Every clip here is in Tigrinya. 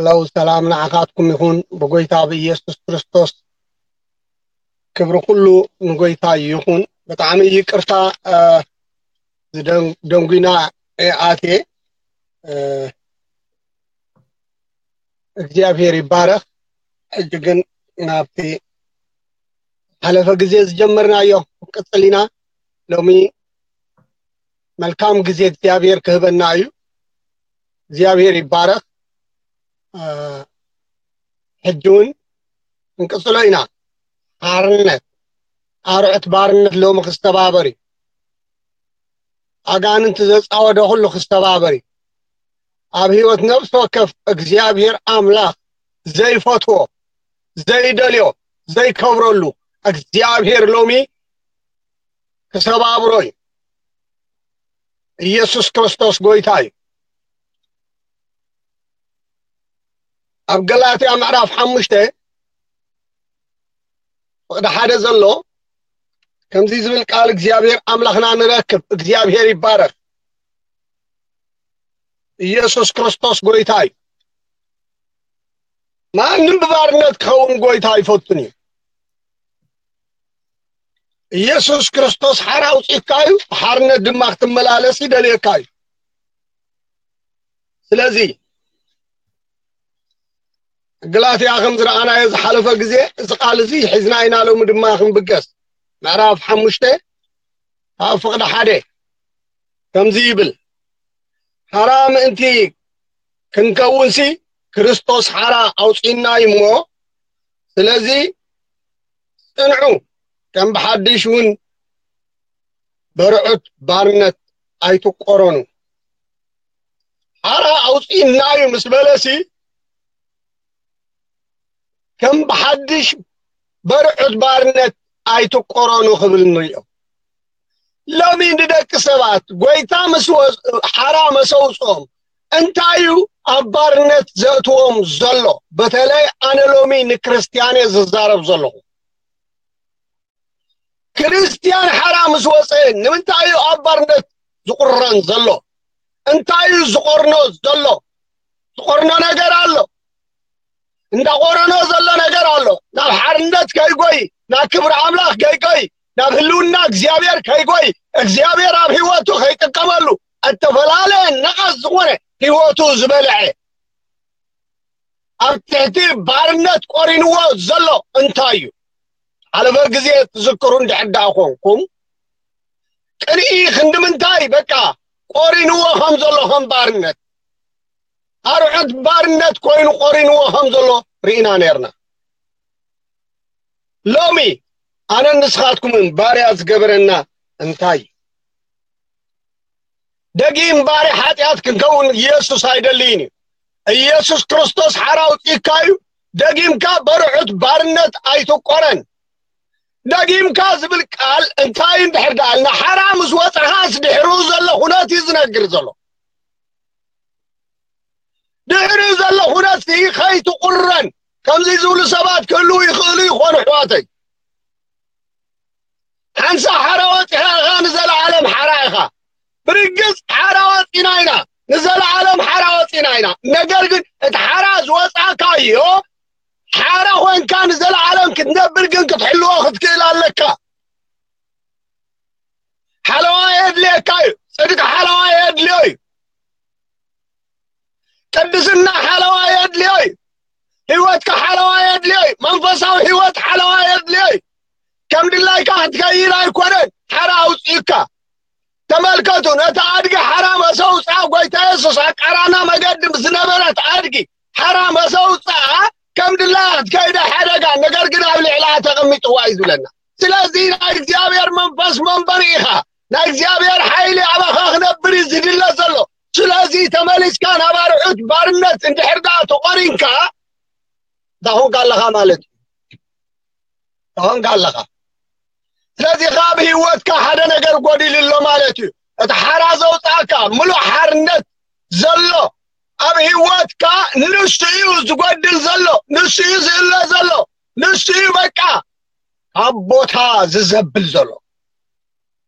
ለው ሰላም ንዓኻትኩም ይኹን ብጎይታ ብኢየሱስ ክርስቶስ። ክብሪ ኩሉ ንጎይታ ይኹን። ብጣዕሚ ይቅርታ፣ እ፣ ዝደን-፣ ደንጉና እየ ኣትየ። እ፣ እግዚኣብሔር ይባረኽ። ሕጂ ግን ናብቲ ሓለፈ ግዜ ዝጀመርናዮ ክንቅጽል ኢና። ሎሚ መልካም ግዜ እግዚኣብሔር ክህበና እዩ። እግዚኣብሔር ይባረኽ። እ፣ ሕጂ እውን ክንቅጽሎ ኢና። ሓርነት፣ ኣርዑት ባርነት ሎሚ ክስተባበር እዩ። ኣጋንንቲ ዘጻወደ ኩሉ ክስተባበር እዩ። ኣብ ህይወት ነፍሲ ወከፍ እግዚኣብሔር ኣምላኽ ዘይፈትዎ፣ ዘይደልዮ፣ ዘይከብረሉ እግዚኣብሔር ሎሚ ክሰባብሮ እዩ። ኢየሱስ ክርስቶስ ጎይታ እዩ። ኣብ ገላትያ ምዕራፍ ሓሙሽተ ፍቕዲ ሓደ ዘሎ ከምዚ ዝብል ቃል እግዚኣብሔር ኣምላኽና ንረክብ። እግዚኣብሔር ይባረኽ። ኢየሱስ ክርስቶስ ጎይታ እዩ። ማንም ብባርነት ክኸውን ጎይታ ኣይፈቱን እዩ። ኢየሱስ ክርስቶስ ሓራ ኣውጺእካ እዩ፣ ሓርነት ድማ ክትመላለስ ይደልየካ እዩ። ስለዚ ገላትያ ከም ዝረኣናዮ ዝሓለፈ ግዜ እዚ ቃል እዚ ሒዝና ኢና፣ ሎሚ ድማ ክንብገስ። ምዕራፍ ሓሙሽተ ካብ ፍቕዲ ሓደ ከምዚ ይብል፣ ሓራ ምእንቲ ክንከውንሲ ክርስቶስ ሓራ ኣውጺእና እዩ እሞ፣ ስለዚ ጽንዑ፣ ከም ብሓድሽ እውን በርዑት ባርነት ኣይትቆረኑ። ሓራ ኣውጺእና እዩ ምስ በለሲ ከም ብሓድሽ በርዑት ባርነት ኣይትቆረኑ ክብል ንሪኦ። ሎሚ ንደቂ ሰባት ጎይታ ምስ ወ-፣ ሓራ መሰውፅኦም እንታይ እዩ ኣብ ባርነት ዘእትዎም ዘሎ? በተለይ ኣነ ሎሚ ንክርስትያነ ዝዛረብ ዘለኹ። ክርስትያን ሓራ ምስ ወፀ ንምንታይ እዩ ኣብ ባርነት ዝቑረን ዘሎ? እንታይ እዩ ዝቆርኖ ዘሎ? ዝቆርኖ ነገር ኣሎ። እንዳቆረኖ ዘሎ ነገር ኣሎ። ናብ ሓርነት ከይጎይ፣ ናብ ክብሪ ኣምላኽ ከይጎይ፣ ናብ ህልውና እግዚኣብሔር ከይጎይ፣ እግዚኣብሔር ኣብ ህይወቱ ከይጥቀመሉ፣ እተፈላለየ ነቐዝ ዝኾነ ህይወቱ ዝበልዐ፣ ኣብ ትሕቲ ባርነት ቆሪንዎ ዘሎ እንታይ እዩ? ሓለፈ ግዜ ትዝክሩ እንድሕር ደኣ ኮንኩም፣ ቅንኢ ክንዲ ምንታይ በቃ ቆሪንዎ ከም ዘሎ፣ ከም ባርነት፣ ኣርዑት ባርነት ኮይኑ ቆሪንዎ ከም ዘሎ ርኢና ነርና። ሎሚ ኣነን ንስኻትኩምን ባርያ ዝገበረና እንታይ እዩ? ደጊም ባርያ ሓጢኣት ክንከውን ኢየሱስ ኣይደልይን እዩ። ኢየሱስ ክርስቶስ ሓራ ኣውጺእካ እዩ። ደጊምካ በርዑት ባርነት ኣይትቆረን። ደጊምካ ዝብል ቃል እንታይ እንድሕር ደኣልና፣ ሓራ ምስ ወጻኻስ ድሕሩ ዘሎ ኩነት እዩ ዝነግር ዘሎ። ድሕሪ ዘሎ ኩነት ከይትቁረን ከምዚ ዝብሉ ሰባት ክህልዉ ይኽእሉ ይኾኑ፣ ኣሕዋተይ። ሓንሳ ሓራ ወፂኻ ኢኻ፣ ንዘለዓለም ሓራ ኢኻ። ብርግፅ ሓራ ወፂና ኢና፣ ንዘለዓለም ሓራ ወፂና ኢና። ነገር ግን እቲ ሓራ ዝወፃካዮ ሓራ ኮይንካ ንዘለዓለም ክትነብር ግን ክትሕልዎ ክትክእል ኣለካ። ሓለዋ የድልየካ እዩ። ፅድቂ ሓለዋ የድልዮ እዩ። ቅድስና ሓለዋ የድልዮ እዩ። ህይወትካ ሓለዋ የድልዮ እዩ። መንፈሳዊ ህይወት ሓለዋ የድልዮ እዩ። ከም ድላይካ ክትከይድ ኣይኮነን። ሓራ ኣውፅእካ። ተመልከቱ፣ ነቲ ኣድጊ ሓራ መሰውፅኣ ጎይታ የሱስ ኣብ ቃራና መገዲ ምስ ዝነበረት ኣድጊ ሓራ መሰውፅኣ ከም ድላያ ክትከይድ ሓደጋ፣ ነገር ግን ኣብ ልዕሊኣ ተቐሚጥዋ እዩ ዝብለና። ስለዚ ናይ እግዚኣብሔር መንፈስ መንበሪ ኢኻ። ናይ እግዚኣብሔር ሓይሊ ኣባኻ ክነብር እዩ ዝድለ ዘሎ። ስለዚ ተመሊስካ ናብ ኣርዑት ባርነት እንድሕር ደኣ ተቖሪንካ፣ ዳኹንካ ኣለኻ ማለት እዩ። ዳኹንካ ኣለኻ። ስለዚ ካብ ህይወትካ ሓደ ነገር ጎዲሉ ኣሎ ማለት እዩ። እቲ ሓራ ዘውፅኣካ ምሉእ ሓርነት ዘሎ ኣብ ህይወትካ ንሱ እዩ ዝጎድል ዘሎ፣ ንሱ እዩ ዝእለ ዘሎ፣ ንሱ እዩ በቃ ካብ ቦታ ዝዘብል ዘሎ።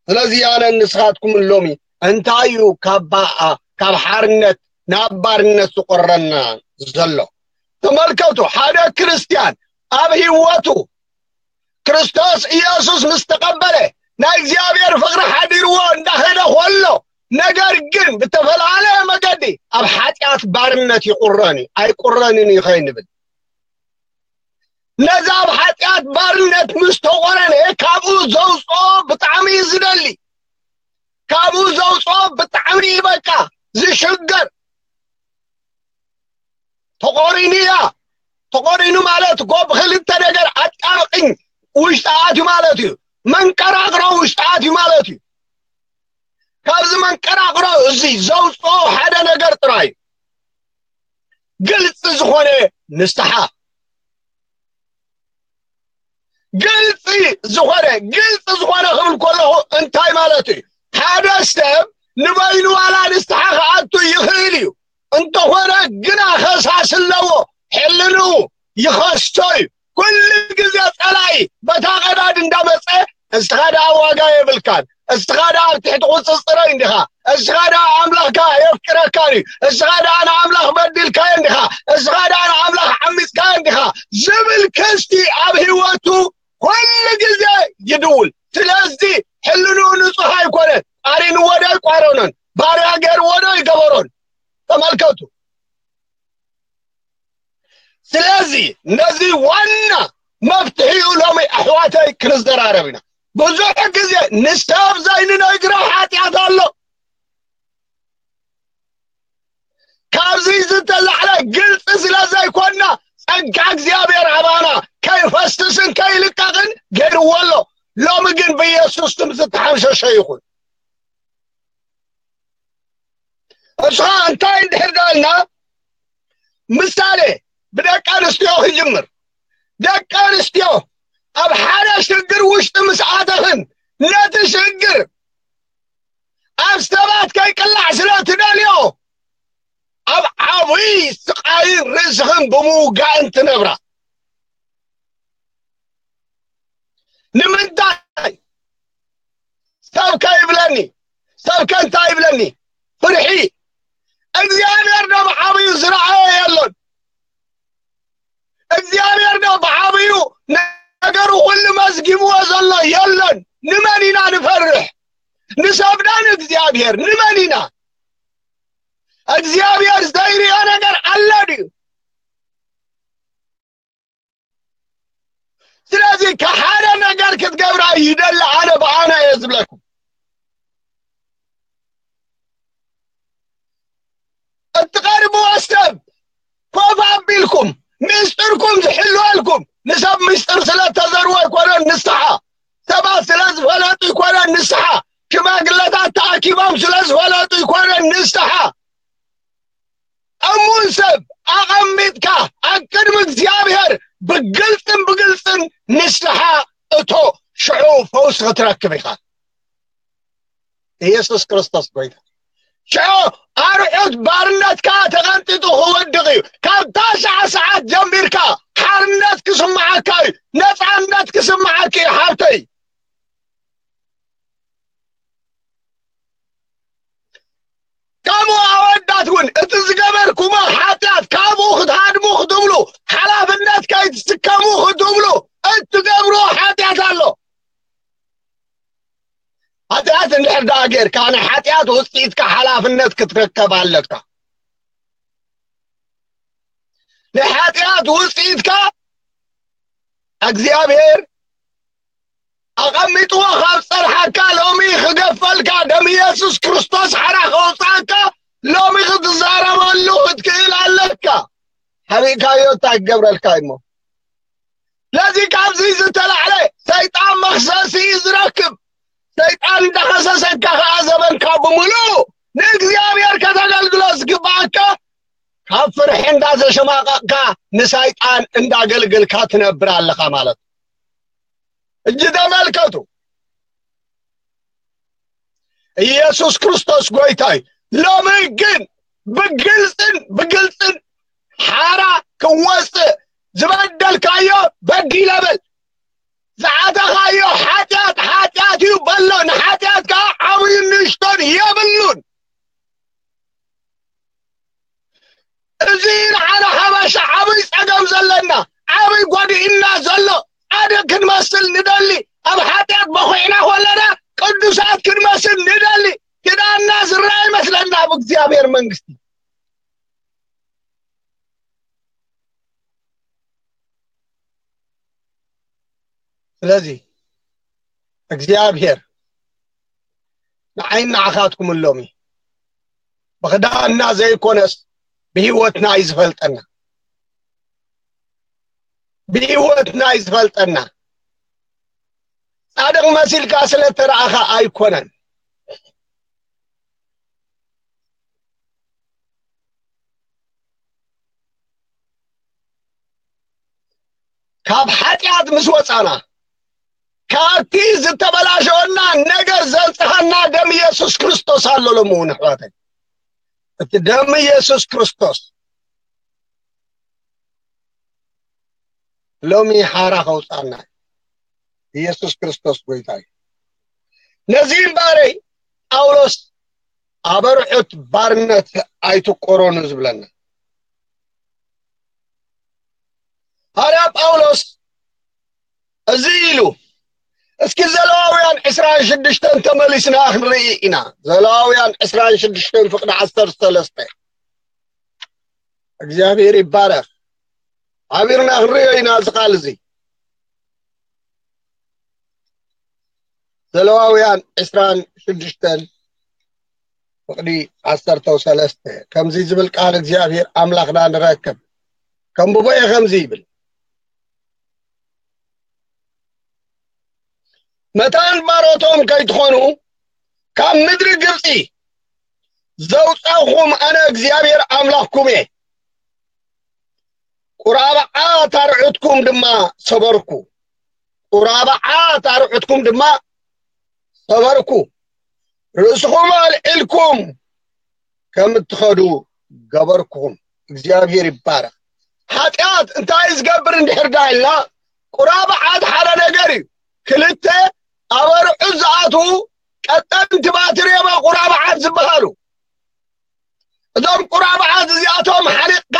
ስለዚ ኣነ ንስኻትኩም ሎሚ እንታይ እዩ ካብ ባ-፣ ካብ ሓርነት ናብ ባርነት ዝቆረና ዘሎ? ተመልከቱ፣ ሓደ ክርስትያን ኣብ ህይወቱ ክርስቶስ ኢየሱስ ምስ ተቐበለ፣ ናይ እግዚኣብሔር ፍቕሪ ሓዲርዎ እንዳኸደ ኾሎ፣ ነገር ግን ብተፈላለየ መገዲ ኣብ ሓጢኣት ባርነት ይቑረን እዩ። ኣይቁረንን እዩ ከይንብል፣ ነዚ ኣብ ሓጢኣት ባርነት ምስ ተቖረነ፣ ካብኡ ዘውፅኦ ብጣዕሚ እዩ ዝደሊ። ካብኡ ዘውፅኦ ብጣዕሚ እዩ በቃ ዝሽገር። ተቆሪኑ እያ። ተቆሪኑ ማለት እኮ ብክልተ ነገር ኣጣብቅኝ ውሽጢ ኣትዩ ማለት እዩ። መንቀራቅሮ ውሽጢ ኣትዩ ማለት እዩ። ካብዚ መንቀራቅሮ እዚ ዘውፅኦ ሓደ ነገር ጥራይ እዩ። ግልፂ ዝኾነ ንስሓ። ግልፂ ዝኾነ፣ ግልፂ ዝኾነ ክብል ከለኹ እንታይ ማለት እዩ? ሓደ ሰብ ንበይኑ ዋላ ንስሓ ክኣቱ ይኽእል እዩ። እንተኾነ ግና ከሳስ ኣለዎ። ሕልንኡ ይኸስቶ እዩ። ኩሉ ግዜ ጸላኢ በታ ቀዳድ እንዳመጸ፣ እስኻ ደኣ ዋጋ የብልካን፣ እስኻ ደኣ ኣብ ትሕቲ ቁጽጽረይ እንዲኻ፣ እስኻ ደኣ ኣምላኽካ የፍቅረካን እዩ፣ እስኻ ደኣ ንኣምላኽ በዲልካዮ እንዲኻ፣ እስኻ ደኣ ንኣምላኽ ዓሚጽካዮ እንዲኻ ዝብል ክስቲ ኣብ ህይወቱ ኩሉ ግዜ ይድውል። ስለዚ ሕልንኡ ንጹህ ኣይኮነን። ቃሪንዎ ዶ ኣይቋረኖን? ባርያ ገይርዎ ዶ ኣይገበሮን? ተመልከቱ። ስለዚ ነዚ ዋና መፍትሒኡ ሎሚ ኣሕዋተይ ክንዘራረብ ኢና። ብዙሕ ግዜ ንሰብ ዘይንነግሮ ሓጢኣት ኣሎ። ካብዚ ዝተላዕለ ግልፂ ስለ ዘይኮና፣ ጸጋ እግዚኣብሔር ኣባና ከይፈስስን ከይልቀቕን ገይርዎ ኣሎ። ሎሚ ግን ብኢየሱስ ስም ዝተሓምሸሸ ይኹን። እሱ እንታይ እንድሕር ዳልና፣ ምሳሌ ብደቂ ኣንስትዮ ክጅምር። ደቂ ኣንስትዮ ኣብ ሓደ ሽግር ውሽጢ ምስ ኣተኽን፣ ነቲ ሽግር ኣብ ሰባት ከይቅላዕ ስለ ትደልዮ፣ ኣብ ዓብይ ስቃይን ርእስኽን ብምውጋእን ትነብራ። ንምንታይ? ሰብ ከይብለኒ፣ ሰብ ከንታይ ይብለኒ? ፍርሒ። እግዚኣብሔር ዶ ብዓብዩ ዝረኣዮ የሎን? እግዚኣብሔር ዶ ብዓብዩ ነገሩ ኩሉ መዝጊብዎ ዘሎ የሎን? ንመን ኢና ንፈርሕ? ንሰብ ዶ ንእግዚኣብሔር? ንመን ኢና? እግዚኣብሔር ዘይርእዮ ነገር ኣሎ ድዩ? ስለዚ ከሓደ ነገር ክትገብራ ይደሊ፣ ኣነ ብኣነ እየ ዝብለኩም። እትቐርብዎ ሰብ ኮፍ ኣቢልኩም፣ ምስጢርኩም ዝሕልወልኩም፣ ንሰብ ምስጢር ስለ ተዘርዎ ኣይኮነን ንስሓ፣ ሰባት ስለ ዝፈለጡ ኣይኮነን ንስሓ፣ ሽማግለታት ተኣኪቦም ስለ ዝፈለጡ ኣይኮነን ንስሓ። እሙን ሰብ ኣቐሚጥካ ኣብ ቅድሚ እግዚኣብሔር ብግልጽን ብግልጽን ንስሓ እቶ፣ ሽዑ ፈውሲ ክትረክብ ኢኻ። ኢየሱስ ክርስቶስ ጎይታ። ሽዑ ኣርዑት ባርነትካ ተቐንጢጡ ክወድቕ እዩ። ካብታ ሰዓ ሰዓት ጀሚርካ ሓርነት ክስምዓካ እዩ። ነጻነት ክስምዓካ እዩ ሓብተይ። ከምኡ ኣወዳት እውን እቲ ዝገበርኩሞ ሓጢኣት ካብኡ ክትሃድሙ ክትብሉ፣ ሓላፍነት ከይትስከሙ ክትብሉ እትገብርዎ ሓጢኣት ኣሎ። ሓጢኣት እንድሕር ደኣ ጌርካ፣ ናይ ሓጢኣት ውፅኢትካ ሓላፍነት ክትረከብ ኣለካ። ናይ ሓጢኣት ውፅኢትካ እግዚኣብሔር ኣቐሚጥዎ ካብ ጸንሓካ፣ ሎሚ ክገፈልካ፣ ደም ኢየሱስ ክርስቶስ ሓራ ከውፅኣካ ሎሚ ክትዛረበሉ ክትክእል ኣለካ። ሓቢእካዮ እንታይ ክገብረልካ እሞ? ስለዚ ካብዚ ዝተላዕለ ሰይጣን መኽሰሲ እዩ ዝረክብ። ሰይጣን እንዳኸሰሰካ ከኣ ዘበንካ ብምሉእ ንእግዚኣብሔር ከተገልግሎ ዝግባኣካ፣ ካብ ፍርሒ እንዳተሸማቐቕካ ንሰይጣን እንዳገልገልካ ትነብር ኣለኻ ማለት እዩ። እጂ ተመልከቱ፣ ኢየሱስ ክርስቶስ ጎይታ እዩ። ሎሚ ግን ብግልጽን ብግልጽን ሓራ ክወጽእ፣ ዝበደልካዮ በዲለ በል፣ ዝኣተኻዮ ሓጢኣት ሓጢኣት እዩ በሎ። ንሓጢኣት ከዓ ዓብዩን ንእሽቶን የብሉን። እዚ ንዓና ሓበሻ ዓብይ ጎዲእና ዘሎ ጻድቕ ክንመስል ንደሊ፣ ኣብ ሓጢኣት በኹዕና ከለና ቅዱሳት ክንመስል ንደሊ። ክዳንና ዝረኣ ይመስለና ኣብ እግዚኣብሔር መንግስቲ። ስለዚ እግዚኣብሔር ንዓይን ንዓኻትኩምን ሎሚ ብኽዳንና ዘይኮነስ ብህይወትና እዩ ዝፈልጠና። ብህይወትና እዩ ዝፈልጠና። ጻድቕ መሲልካ ስለ እተረኣኻ ኣይኮነን። ካብ ሓጢኣት ምስ ወጻና፣ ካብቲ ዝተበላሸወና ነገር ዘንጽሃና ደም ኢየሱስ ክርስቶስ ኣሎ። ሎሚ እውን ኣሕዋተይ፣ እቲ ደም ኢየሱስ ክርስቶስ ሎሚ ሓራ ከውጻና። ኢየሱስ ክርስቶስ ጎይታ እዩ። ነዚ እምበኣረይ ጳውሎስ ኣበርዑት ባርነት ኣይትቆረኑ ዝብለና። ሃርያ ጳውሎስ እዚ ኢሉ፣ እስኪ ዘለዋውያን ዕስራን ሽዱሽተን ተመሊስና ክንርኢ ኢና። ዘለዋውያን ዕስራን ሽዱሽተን ፍቕዲ ዓሰርተ ሰለስተ። እግዚኣብሔር ይባረኽ። ዓቢርና ክንርእዮ ኢና እዚ ቃል እዚ። ዘለዋውያን ዕስራን ሽዱሽተን ፍቕዲ ዓሰርተ ሰለስተ። ከምዚ ዝብል ቃል እግዚኣብሔር ኣምላኽና ንረክብ። ከም ብቦኤ ከምዚ ይብል፣ መታን ባሮቶም ከይትኾኑ ካብ ምድሪ ግብፂ ዘውፃኹም ኣነ እግዚኣብሔር ኣምላኽኩም እየ። ቁራብዓት ኣርዑትኩም ድማ ሰበርኩ። ቁራብዓት ኣርዑትኩም ድማ ሰበርኩ። ርእስኹም ኣልዒልኩም ከም እትኸዱ ገበርኩኹም። እግዚኣብሔር ይባረኽ። ሓጢኣት እንታይ ዝገብር እንድሕር ዳ ኢልና፣ ቁራብዓት ሓደ ነገር እዩ። ክልተ ኣብ ኣርዑት ዝኣትዉ ቀጠንቲ ባትሪ እዮም ቁራብዓት ዝበሃሉ። እዞም ቁራብዓት እዚኣቶም ሓኒቕካ፣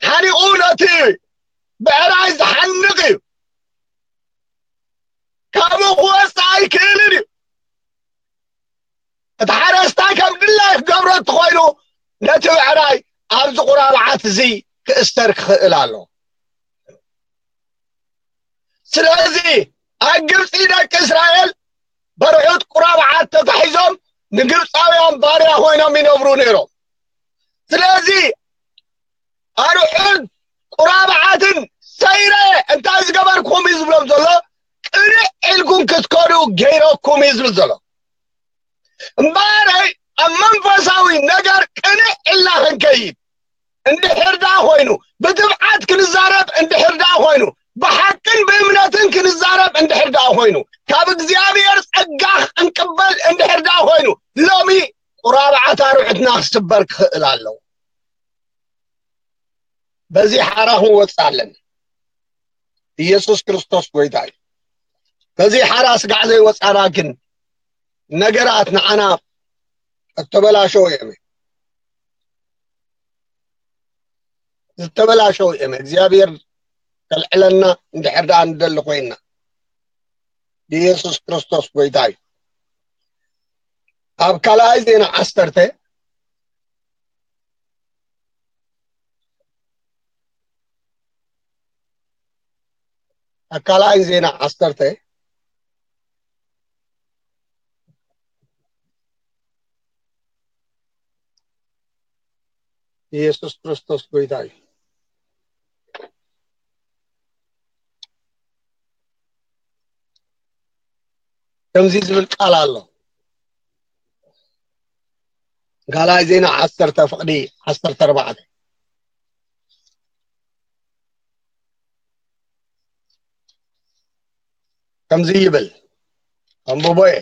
ሓኒቑ ነቲ ብዕራይ ዝሓንቕ እዩ። ካብኡ ክወፅእ ኣይክእልን እዩ። እቲ ሓረስታይ ከም ድላይ ክገብሮ እንተኾይኑ፣ ነቲ ብዕራይ ኣብዚ ቁራብዓት እዚ ክእስተር ክኽእል ኣሎ። ስለዚ ኣብ ግብፂ ደቂ እስራኤል በርዑት ቁራብዓት ተታሒዞም ንግብፃውያን ባርያ ኮይኖም ይነብሩ ነይሮም። ስለዚ ኣርዑት ቁራብዓትን ሰይረ እንታይ ዝገበርኩም እዩ ዝብሎም ዘሎ? ቅንዕ ኢልኩም ክትከዱ ገይረኩም እዩ ዝብል ዘሎ። እምበኣረይ ኣብ መንፈሳዊ ነገር ቅንዕ ኢልና ክንከይድ እንድሕር ደኣ ኮይኑ፣ ብትብዓት ክንዛረብ እንድሕር ደኣ ኮይኑ፣ ብሓቅን ብእምነትን ክንዛረብ እንድሕር ደኣ ኮይኑ፣ ካብ እግዚኣብሔር ጸጋ ክንቅበል እንድሕር ደኣ ኮይኑ፣ ሎሚ ቁራብዓት ኣርዑትና ክስበር ክኽእል ኣለዎ። በዚ ሓራ ክንወፅእ ኣለና። ኢየሱስ ክርስቶስ ጎይታ እዩ። በዚ ሓራ ስጋዕ ዘይወፃና ግን ነገራት ንዓና እተበላሸው እዮም፣ ዝተበላሸው እዮም። እግዚኣብሔር ከልዕለና እንድሕር ደኣ ንደሊ ኮይንና፣ ኢየሱስ ክርስቶስ ጎይታ እዩ። ኣብ ካልኣይ ዜና ዓሰርተ፣ ኣብ ካልኣይ ዜና ዓሰርተ፣ ኢየሱስ ክርስቶስ ጎይታ እዩ። ከምዚ ዝብል ቃል ኣሎ። ካልኣይ ዜና ዓሰርተ ፍቕዲ ዓሰርተ ኣርባዕተ። ከምዚ ይብል፣ ኣንብቦ እየ።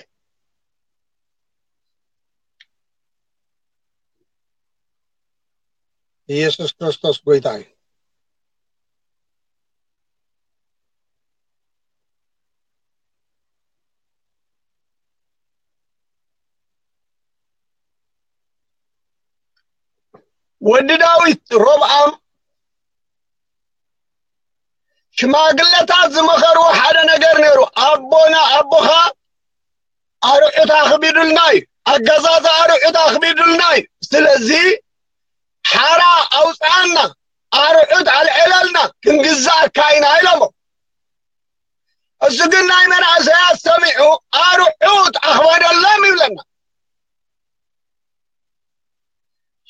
ኢየሱስ ክርስቶስ ጎይታ እዩ። ወዲ ዳዊት ሮብዓም ሽማግለታት ዝመኸርዎ ሓደ ነገር ነይሩ። ኣቦና ኣቦኻ ኣርዑት ኣኽቢዱልና እዩ፣ ኣገዛዝ ኣርዑት ኣኽቢዱልና እዩ። ስለዚ ሓራ ኣውፅኣና፣ ኣርዑት ኣልዕለልና፣ ክንግዛእካ ኢና ኢሎሞ። እሱ ግን ናይ መናእሰያት ሰሚዑ ኣርዑት ኣኽበደሎም ይብለና።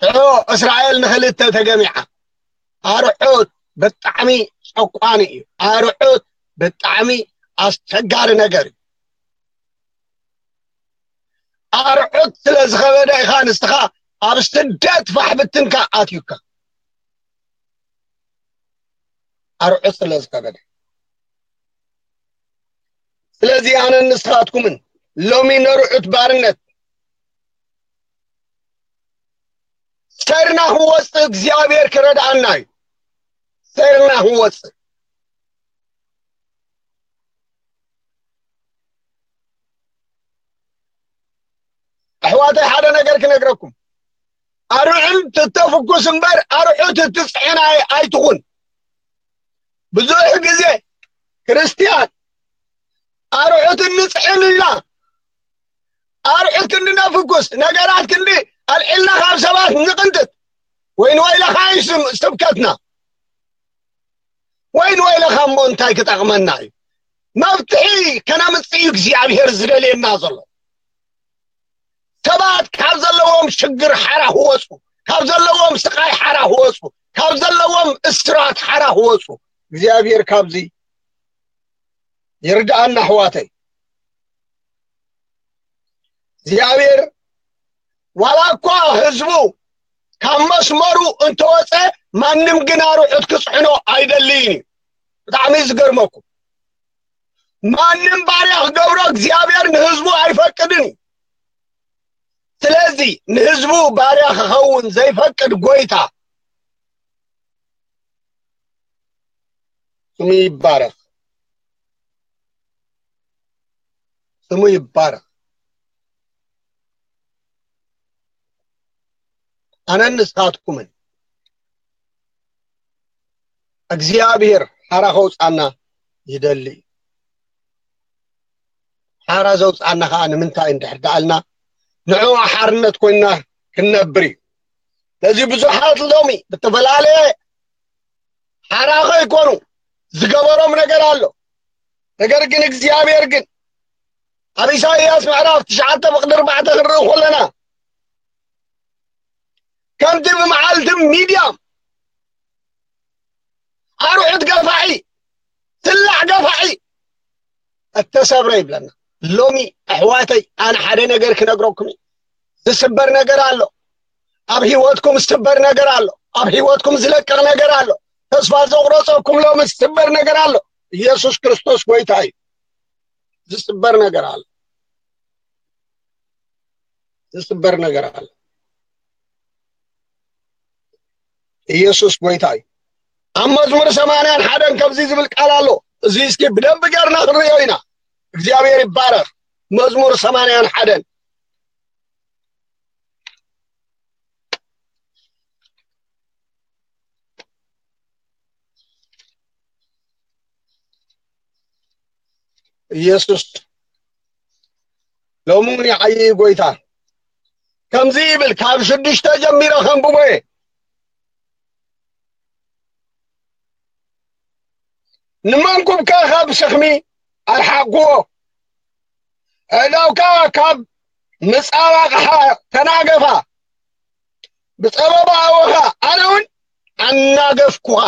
ሽዑ እስራኤል ንኽልተ ተገሚዓ። ኣርዑት ብጣዕሚ ጨቋኒ እዩ። ኣርዑት ብጣዕሚ ኣስቸጋሪ ነገር እዩ። ኣርዑት ስለ ዝኸበደ ኢኻ ንስኻ ኣብ ስደት ፋሕ ብትንካ ኣትዩካ። ኣርዑት ስለ ዝኸበደ። ስለዚ ኣነን ንስኻትኩምን ሎሚ ነርዑት ባርነት ሰርና ክንወፅእ እግዚኣብሔር ክረድኣና እዩ። ሰርና ክንወፅእ ኣሕዋተይ ሓደ ነገር ክነግረኩም። ኣርዑት ትተፍኩስ እምበር ኣርዑት ትፅዕን ኣይ- ኣይትኹን። ብዙሕ ግዜ ክርስትያን ኣርዑት እንፅዕን ኢልና ኣርዑት ክንዲ ነፍኩስ ነገራት ክንዲ ኣልዒልና ካብ ሰባት ንቕንጥጥ። ወይን ወይለኻ እዩ ስም- ስብከትና። ወይን ወይለኻ እሞ እንታይ ክጠቕመና እዩ? መፍትሒ ከነምፅእ እዩ እግዚኣብሔር ዝደልየና ዘሎ። ሰባት ካብ ዘለዎም ሽግር ሓራ ክወፁ፣ ካብ ዘለዎም ስቓይ ሓራ ክወፁ፣ ካብ ዘለዎም እስራት ሓራ ክወፁ እግዚኣብሔር ካብዚ ይርድኣና ኣሕዋተይ። እግዚኣብሔር ዋላ እኳ ህዝቡ ካብ መስመሩ እንተወፀ ማንም ግን ኣርዑት ክፅዕኖ ኣይደልይን እዩ። ብጣዕሚ እዩ ዝገርመኩም። ማንም ባርያ ክገብሮ እግዚኣብሔር ንህዝቡ ኣይፈቅድን እዩ። ስለዚ ንህዝቡ ባርያ ክኸውን ዘይፈቅድ ጎይታ ስሙ ይባረኽ። ስሙ ይባረኽ። ኣነን ንስኻትኩምን እግዚኣብሔር ሓራ ከውፃና ይደሊ እዩ። ሓራ ዘውፃና ከዓ ንምንታይ እንድሕር ደኣልና ንዕኡ ሓርነት ኮይንና ክንነብር እዩ። ስለዚ ብዙሓት ሎሚ ብተፈላለየ ሓራ ከይኮኑ ዝገበሮም ነገር ኣሎ። ነገር ግን እግዚኣብሔር ግን ኣብ ኢሳይያስ ምዕራፍ ትሽዓተ ፍቕዲ ኣርባዕተ ክንርኢ ከለና ከምቲ ብመዓልቲ ሚድያም ኣርዑት ገፋዒ፣ ስላዕ ገፋዒ እተሰብረ ይብለና። ሎሚ ኣሕዋተይ ኣነ ሓደ ነገር ክነግረኩም እዩ። ዝስበር ነገር ኣሎ። ኣብ ህይወትኩም ዝስበር ነገር ኣሎ። ኣብ ህይወትኩም ዝለቅቕ ነገር ኣሎ። ተስፋ ዘቑረፀኩም ሎሚ ዝስበር ነገር ኣሎ። ኢየሱስ ክርስቶስ ጎይታ እዩ። ዝስበር ነገር ኣሎ። ዝስበር ነገር ኣሎ። ኢየሱስ ጎይታ እዩ። ኣብ መዝሙር ሰማንያን ሓደን ከምዚ ዝብል ቃል ኣሎ። እዚ እስኪ ብደንብ ገርና ክንሪኦ ኢና። እግዚኣብሔር ይባረኽ። መዝሙር ሰማንያን ሓደን ኢየሱስ ሎሚ እውን ይዓዪ ጎይታ። ከምዚ ይብል፣ ካብ ሽዱሽተ ጀሚረ ከንብቦ እየ። ንመንኩብካ ካብ ሸኽሚ ኣርሓቕኩዎ፣ ኣእዳውካ ካብ ምጻባቕሓ ተናገፋ። ብጸበባ ኣወኻ ኣነ እውን ኣናገፍኩኻ።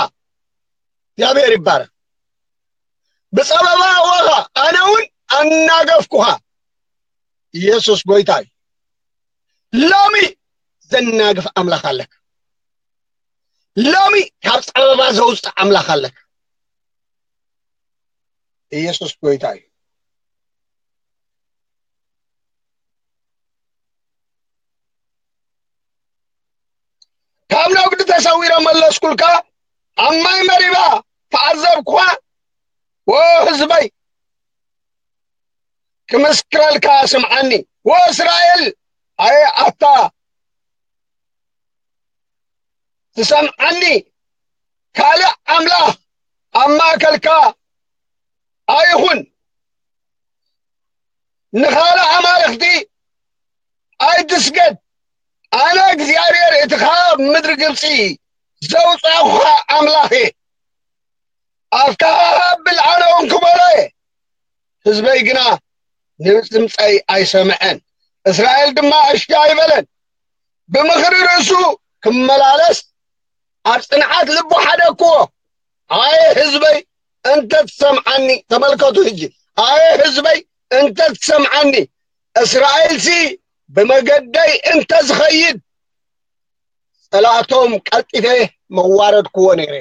እግዚኣብሔር ይባረክ። ብጸበባ ኣወኻ ኣነ እውን ኣናገፍኩኻ። ኢየሱስ ጎይታ እዩ። ሎሚ ዘናግፍ ኣምላኽ ኣለካ። ሎሚ ካብ ጸበባ ዘውፅእ ኣምላኽ ኣለካ። ኢየሱስ ጎይታ እዩ። ካብ ነጉዲ ተሰዊረ መለስኩልካ፣ ኣብ ማይ መሪባ ተዓዘብኩኻ። ወ ህዝበይ ክምስክረልካ ስምዓኒ። ወ እስራኤል ኣየ ኣታ ትሰምዓኒ። ካልእ ኣምላኽ ኣብ ማእከልካ ኣይኹን፣ ንኻልእ ኣማልኽቲ ኣይትስገድ። ኣነ እግዚኣብሔር፣ እቲ ካብ ምድሪ ግብጺ ዘውጻእኹኻ ኣምላኽ እየ። ኣፍካ ኣብል፣ ኣነ እውን ክበሎ እየ። ህዝበይ ግና ንድምፀይ ኣይሰምዐን፣ እስራኤል ድማ እሺ ኣይበለን። ብምኽሪ ርእሱ ክመላለስ ኣብ ጽንዓት ልቡ ሓደግክዎ። ኣየ ህዝበይ እንተ ትሰምዓኒ፣ ተመልከቱ ሕጂ፣ ኣየ ህዝበይ እንተ ትሰምዓኒ፣ እስራኤልሲ ብመገደይ እንተ ዝኸይድ፣ ጸላእቶም ቀልጢፈ መዋረድክዎ ነይረ።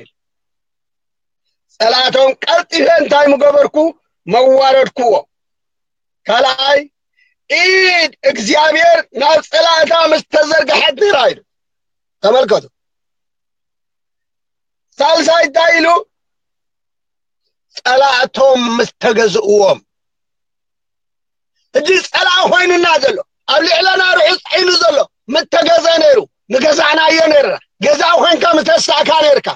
ጸላእቶም ቀልጢፈ እንታይ ምገበርኩ? መዋረድክዎ። ካልኣይ፣ ኢድ እግዚኣብሔር ናብ ጸላእታ ምስ ተዘርግሐት ነይራ ኢሉ። ተመልከቱ። ሳልሳይ እንታይ ኢሉ? ጸላእቶም ምስ ተገዝእዎም። ሕጂ ጸላእ ኮይኑና ዘሎ፣ ኣብ ልዕለና ርሑስ ዒሉ ዘሎ፣ ምተገዘ ነይሩ። ንገዛእናዮ ነይርና። ገዛእ ኮይንካ ምተሳእካ ነይርካ።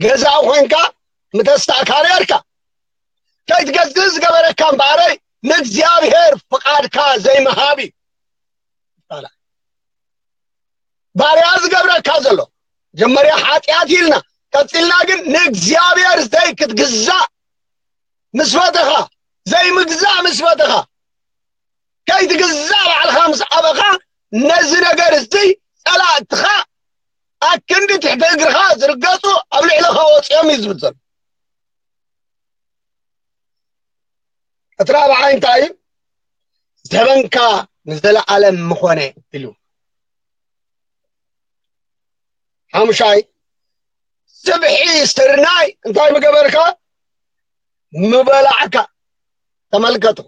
ገዛእ ኮይንካ ምተሳእካ ነይርካ። ከይትገዝእ ዝገበረካ እምበኣረይ፣ ንእግዚኣብሔር ፍቓድካ ዘይምሃብ እዩ። ባርያ ዝገብረካ ዘሎ። መጀመርያ ሓጢኣት ኢልና፣ ቀጺልና ግን ንእግዚኣብሔር ዘይክትግዛእ ምስ ፈተኻ፣ ዘይምግዛእ ምስ ፈተኻ፣ ከይትግዛእ ባዕልኻ ምስ ኣበኻ፣ ነዚ ነገር እዚ ጸላእትኻ ኣክንዲ ትሕቲ እግርኻ ዝርገጹ ኣብ ልዕለኻ ወጺኦም እዩ ዝብል ዘሎ። እቲ ራብዓይ እንታይ እዩ? ዘበንካ ንዘለኣለም ምኾነ ኢሉ። ሓሙሻይ፣ ስብሒ ስርናይ እንታይ ምገበርካ? ምበላዕካ። ተመልከቱ፣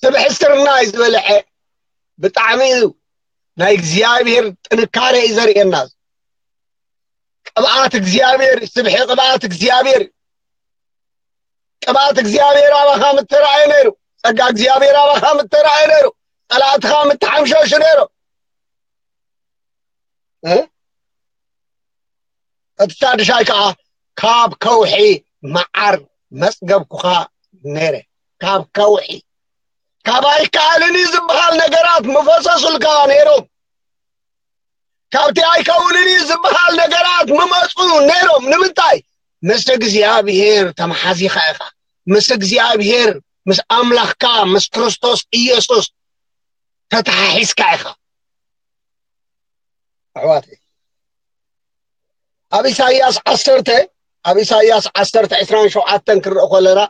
ስብሒ ስርናይ ዝበልዐ ብጣዕሚ እዩ ናይ እግዚኣብሔር ጥንካሬ እዩ ዘርእየና። ቅብኣት እግዚኣብሔር፣ ስብሒ ቅብኣት እግዚኣብሔር እዩ። ቅብኣት እግዚኣብሔር ኣባኻ ምተራእየ ነይሩ። ጸጋ እግዚኣብሔር ኣባኻ ምተራእየ ነይሩ። ጸላእትኻ ምተሓምሸሹ ነይሩ። እ? እቲ ሻድሻይ ከዓ ካብ ከውሒ መዓር መጽገብኩኻ ነይረ። ካብ ከውሒ፣ ካብ ኣይከኣልን እዩ ዝበሃል ነገራት ምፈሰሱልካ ነይሮም። ካብቲ ኣይከውንን እዩ ዝበሃል ነገራት ምመጹ ነይሮም። ንምንታይ? ምስ እግዚኣብሔር ተመሓዚኻ ኢኻ። ምስ እግዚኣብሔር፣ ምስ ኣምላኽካ፣ ምስ ክርስቶስ ኢየሱስ ተተሓሒዝካ ኢኻ። ኣሕዋተይ፣ ኣብ ኢሳይያስ ዓሰርተ፣ ኣብ ኢሳይያስ ዓሰርተ ዕስራን ሸውዓተን ክንርኢ ከለና፣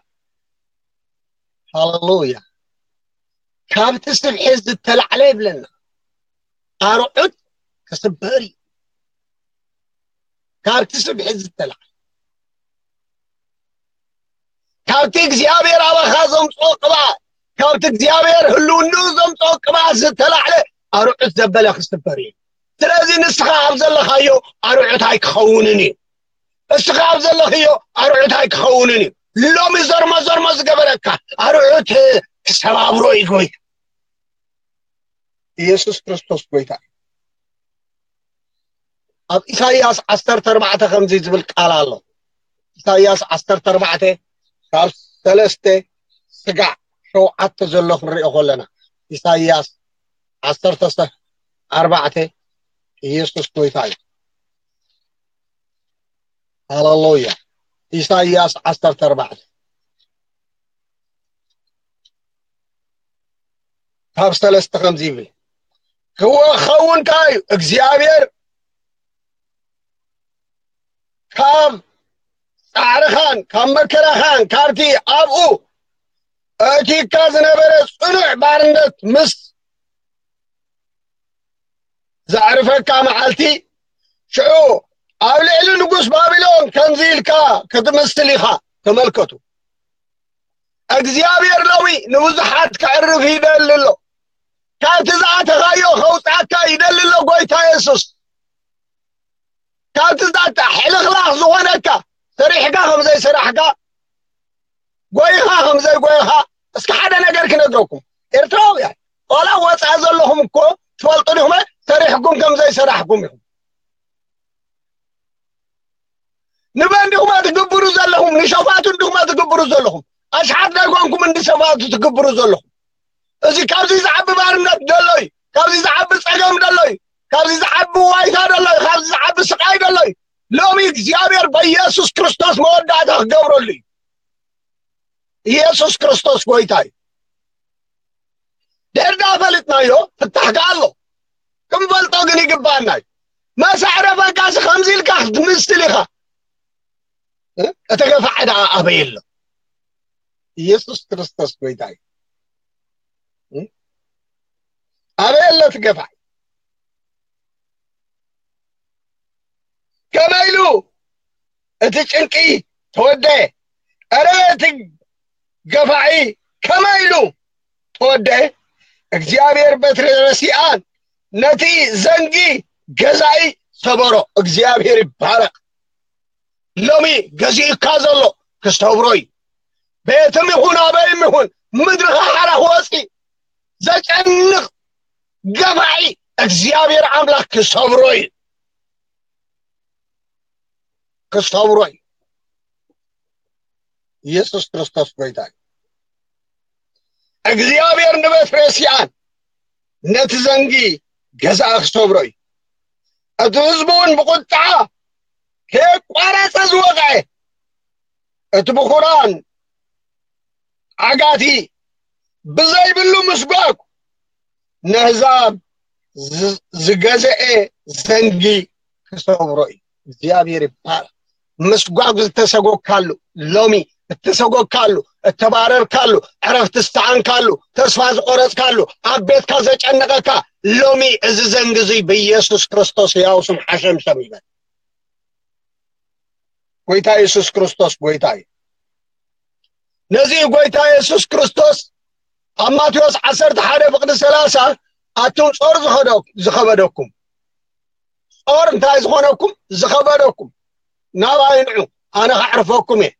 ሃሌሉያ፣ ካብቲ ስብሒ ዝተላዕለ ይብለና፣ ኣርዑት ክስበር እዩ። ካብቲ ስብሒ ዝተላዕለ፣ ካብቲ እግዚኣብሔር ኣባኻ ዘምጽኦ ቅብኣት፣ ካብቲ እግዚኣብሔር ህልውንኡ ዘምጽኦ ቅብኣት ዝተላዕለ ኣርዑት ዘበለ ክስበር እዩ። ስለዚ ንስኻ ኣብ ዘለኻዮ ኣርዑት ኣይክኸውንን እዩ። እስኻ ኣብ ዘለኽዮ ኣርዑት ኣይክኸውንን እዩ። ሎሚ ዘርሞ ዘርሞ ዝገበረካ ኣርዑት ክሰባብሮ እዩ ጎይታ። ኢየሱስ ክርስቶስ ጎይታ እዩ። ኣብ ኢሳይያስ ዓሰርተ ኣርባዕተ ከምዚ ዝብል ቃል ኣሎ። ኢሳይያስ ዓሰርተ ኣርባዕተ ካብ ሰለስተ ስጋዕ ሸውዓተ ዘሎ ክንሪኦ ከለና፣ ኢሳይያስ ዓሰርተ ኣርባዕተ፣ ኢየሱስ ጎይታ እዩ። ሃሌሉያ። ኢሳይያስ ዓሰርተ ኣርባዕተ ካብ ሰለስተ ከምዚ ይብል፣ ክኸውን ከኣ እዩ፣ እግዚኣብሔር ካብ ጻዕርኻን ካብ መከራኻን ካብቲ ኣብኡ ኣእቲካ ዝነበረ ጽኑዕ ባርነት ምስ ዘዕርፈካ መዓልቲ፣ ሽዑ ኣብ ልዕሊ ንጉስ ባቢሎን ከምዚ ኢልካ ክትምስል ኢኻ። ተመልከቱ፣ እግዚኣብሔር ሎሚ ንብዙሓት ከዕርፍ ይደሊ ኣሎ። ካብቲ ዝኣተኻዮ ከውፅኣካ ይደሊ ኣሎ ጎይታ የሱስ። ካብቲ ዝኣተ ሕልኽላኽ ዝኾነካ፣ ሰሪሕካ ከም ዘይሰራሕካ፣ ጎይኻ ከም ዘይጎይኻ፣ እስኪ ሓደ ነገር ክነግረኩም። ኤርትራውያን፣ ዋላ ወፃኢ ዘለኹም እኮ ትፈልጡ ዲኹም፣ ሰሪሕኩም ከም ዘይሰራሕኩም ኢኹም። ንመን ዲኹም ትግብሩ ዘለኹም? ንሸፋቱ ዲኹም ትግብሩ ዘለኹም? ኣሽሓት ዳይኮንኩም እንዲ ሸፋቱ ትግብሩ ዘለኹም? እዚ ካብዚ ዝዓቢ ባርነት ደሎ እዩ። ካብዚ ዝዓቢ ጸገም ደሎ እዩ። ካብዚ ዝዓቢ ዋይታ ደሎ እዩ። ካብዚ ዝዓቢ ስቃይ ደሎ እዩ። ሎሚ እግዚኣብሔር በኢየሱስ ክርስቶስ መወዳእታ ክገብረሉ እዩ። ኢየሱስ ክርስቶስ ጎይታ እዩ። ድሕር ዳ ፈሊጥናዮ ፍታሕ ከኣ ኣሎ። ክንፈልጦ ግን ይግባኣና እዩ። መሳዕረፈካሲ ከምዚ ኢልካ ክትምስል ኢኻ። እ? እቲ ገፋዒ ደኣ ኣበይ ኣሎ? ኢየሱስ ክርስቶስ ጎይታ እዩ። እ? ኣበይ ኣሎ እቲ ገፋዒ? ከመይ ኢሉ እቲ ጭንቂ ተወደአ? እረ እቲ ገፋዒ ከመይ ኢሉ ተወደአ? እግዚኣብሔር በትሪ ረሲኣን ነቲ ዘንጊ ገዛኢ ሰበሮ። እግዚኣብሔር ይባረክ። ሎሚ ገዚኡካ ዘሎ ክሰብሮ እዩ። ቤትም ይኹን ኣበይም ይኹን ምድርኻ ሓራ ክወፂ ዘጨንቕ ገፋዒ እግዚኣብሔር ኣምላኽ ክሰብሮ እዩ። ክሰብሮ እዩ። ኢየሱስ ክርስቶስ ጎይታ እዩ። እግዚኣብሔር ንቤት ረሲኣን ነቲ ዘንጊ ገዛእ ክሰብሮ እዩ። እቲ ህዝቢ እውን ብቁጥዓ ከየቋረጸ ዝወቕዐ፣ እቲ ብኹራን ዓጋቲ ብዘይብሉ ምስጓግ ነህዛብ ዝ-፣ ዝገዘኤ ዘንጊ ክሰብሮ እዩ። እግዚኣብሔር ይባረክ። ምስጓግ ዝተሰጎግካሉ፣ ሎሚ እተሰጎግካሉ፣ እተባረርካሉ፣ ዕረፍቲ ዝተዓንካሉ፣ ተስፋ ዝቆረጽካሉ፣ ኣብ ቤትካ ዘጨነቐካ፣ ሎሚ እዚ ዘንጊ እዚ ብኢየሱስ ክርስቶስ ሕያው ስም ሓሸምሸም ይበል። ጎይታ የሱስ ክርስቶስ ጎይታ እዩ። ነዚ ጎይታ የሱስ ክርስቶስ ኣብ ማቴዎስ ዓሰርተ ሓደ ፍቕዲ ሰላሳ ኣቱም ጾር ዝኸደ-፣ ዝኸበደኩም፣ ጾር እንታይ ዝኾነኩም? ዝኸበደኩም፣ ናባይ ንዑ፣ ኣነ ከዕርፈኩም እየ።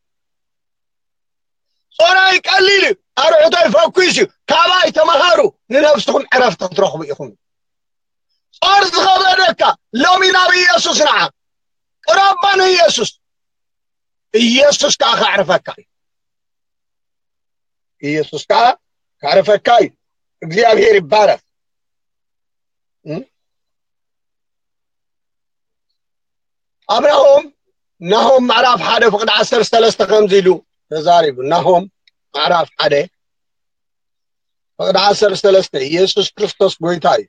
ጾራይ ቀሊል እዩ፣ ኣርዑተይ ፈኲስ እዩ። ካባይ ተመሃሩ፣ ንነፍስኹም ዕረፍቲ ክትረኽቡ ኢኹም። ጾር ዝኸበደካ፣ ሎሚ ናብ ኢየሱስ ንዓ። ቅረባ ንኢየሱስ። ኢየሱስ ከኣ ከዕርፈካ እዩ። ኢየሱስ ከኣ ከዕርፈካ እዩ። እግዚኣብሔር ይባረክ። እም? ኣብ ናሆም፣ ናሆም ምዕራፍ ሓደ ፍቕዲ ዓሰርተ ሰለስተ ከምዚ ኢሉ ተዛሪቡ። ናሆም ምዕራፍ ሓደ ፍቕዲ ዓሰርተ ሰለስተ፣ ኢየሱስ ክርስቶስ ጎይታ እዩ።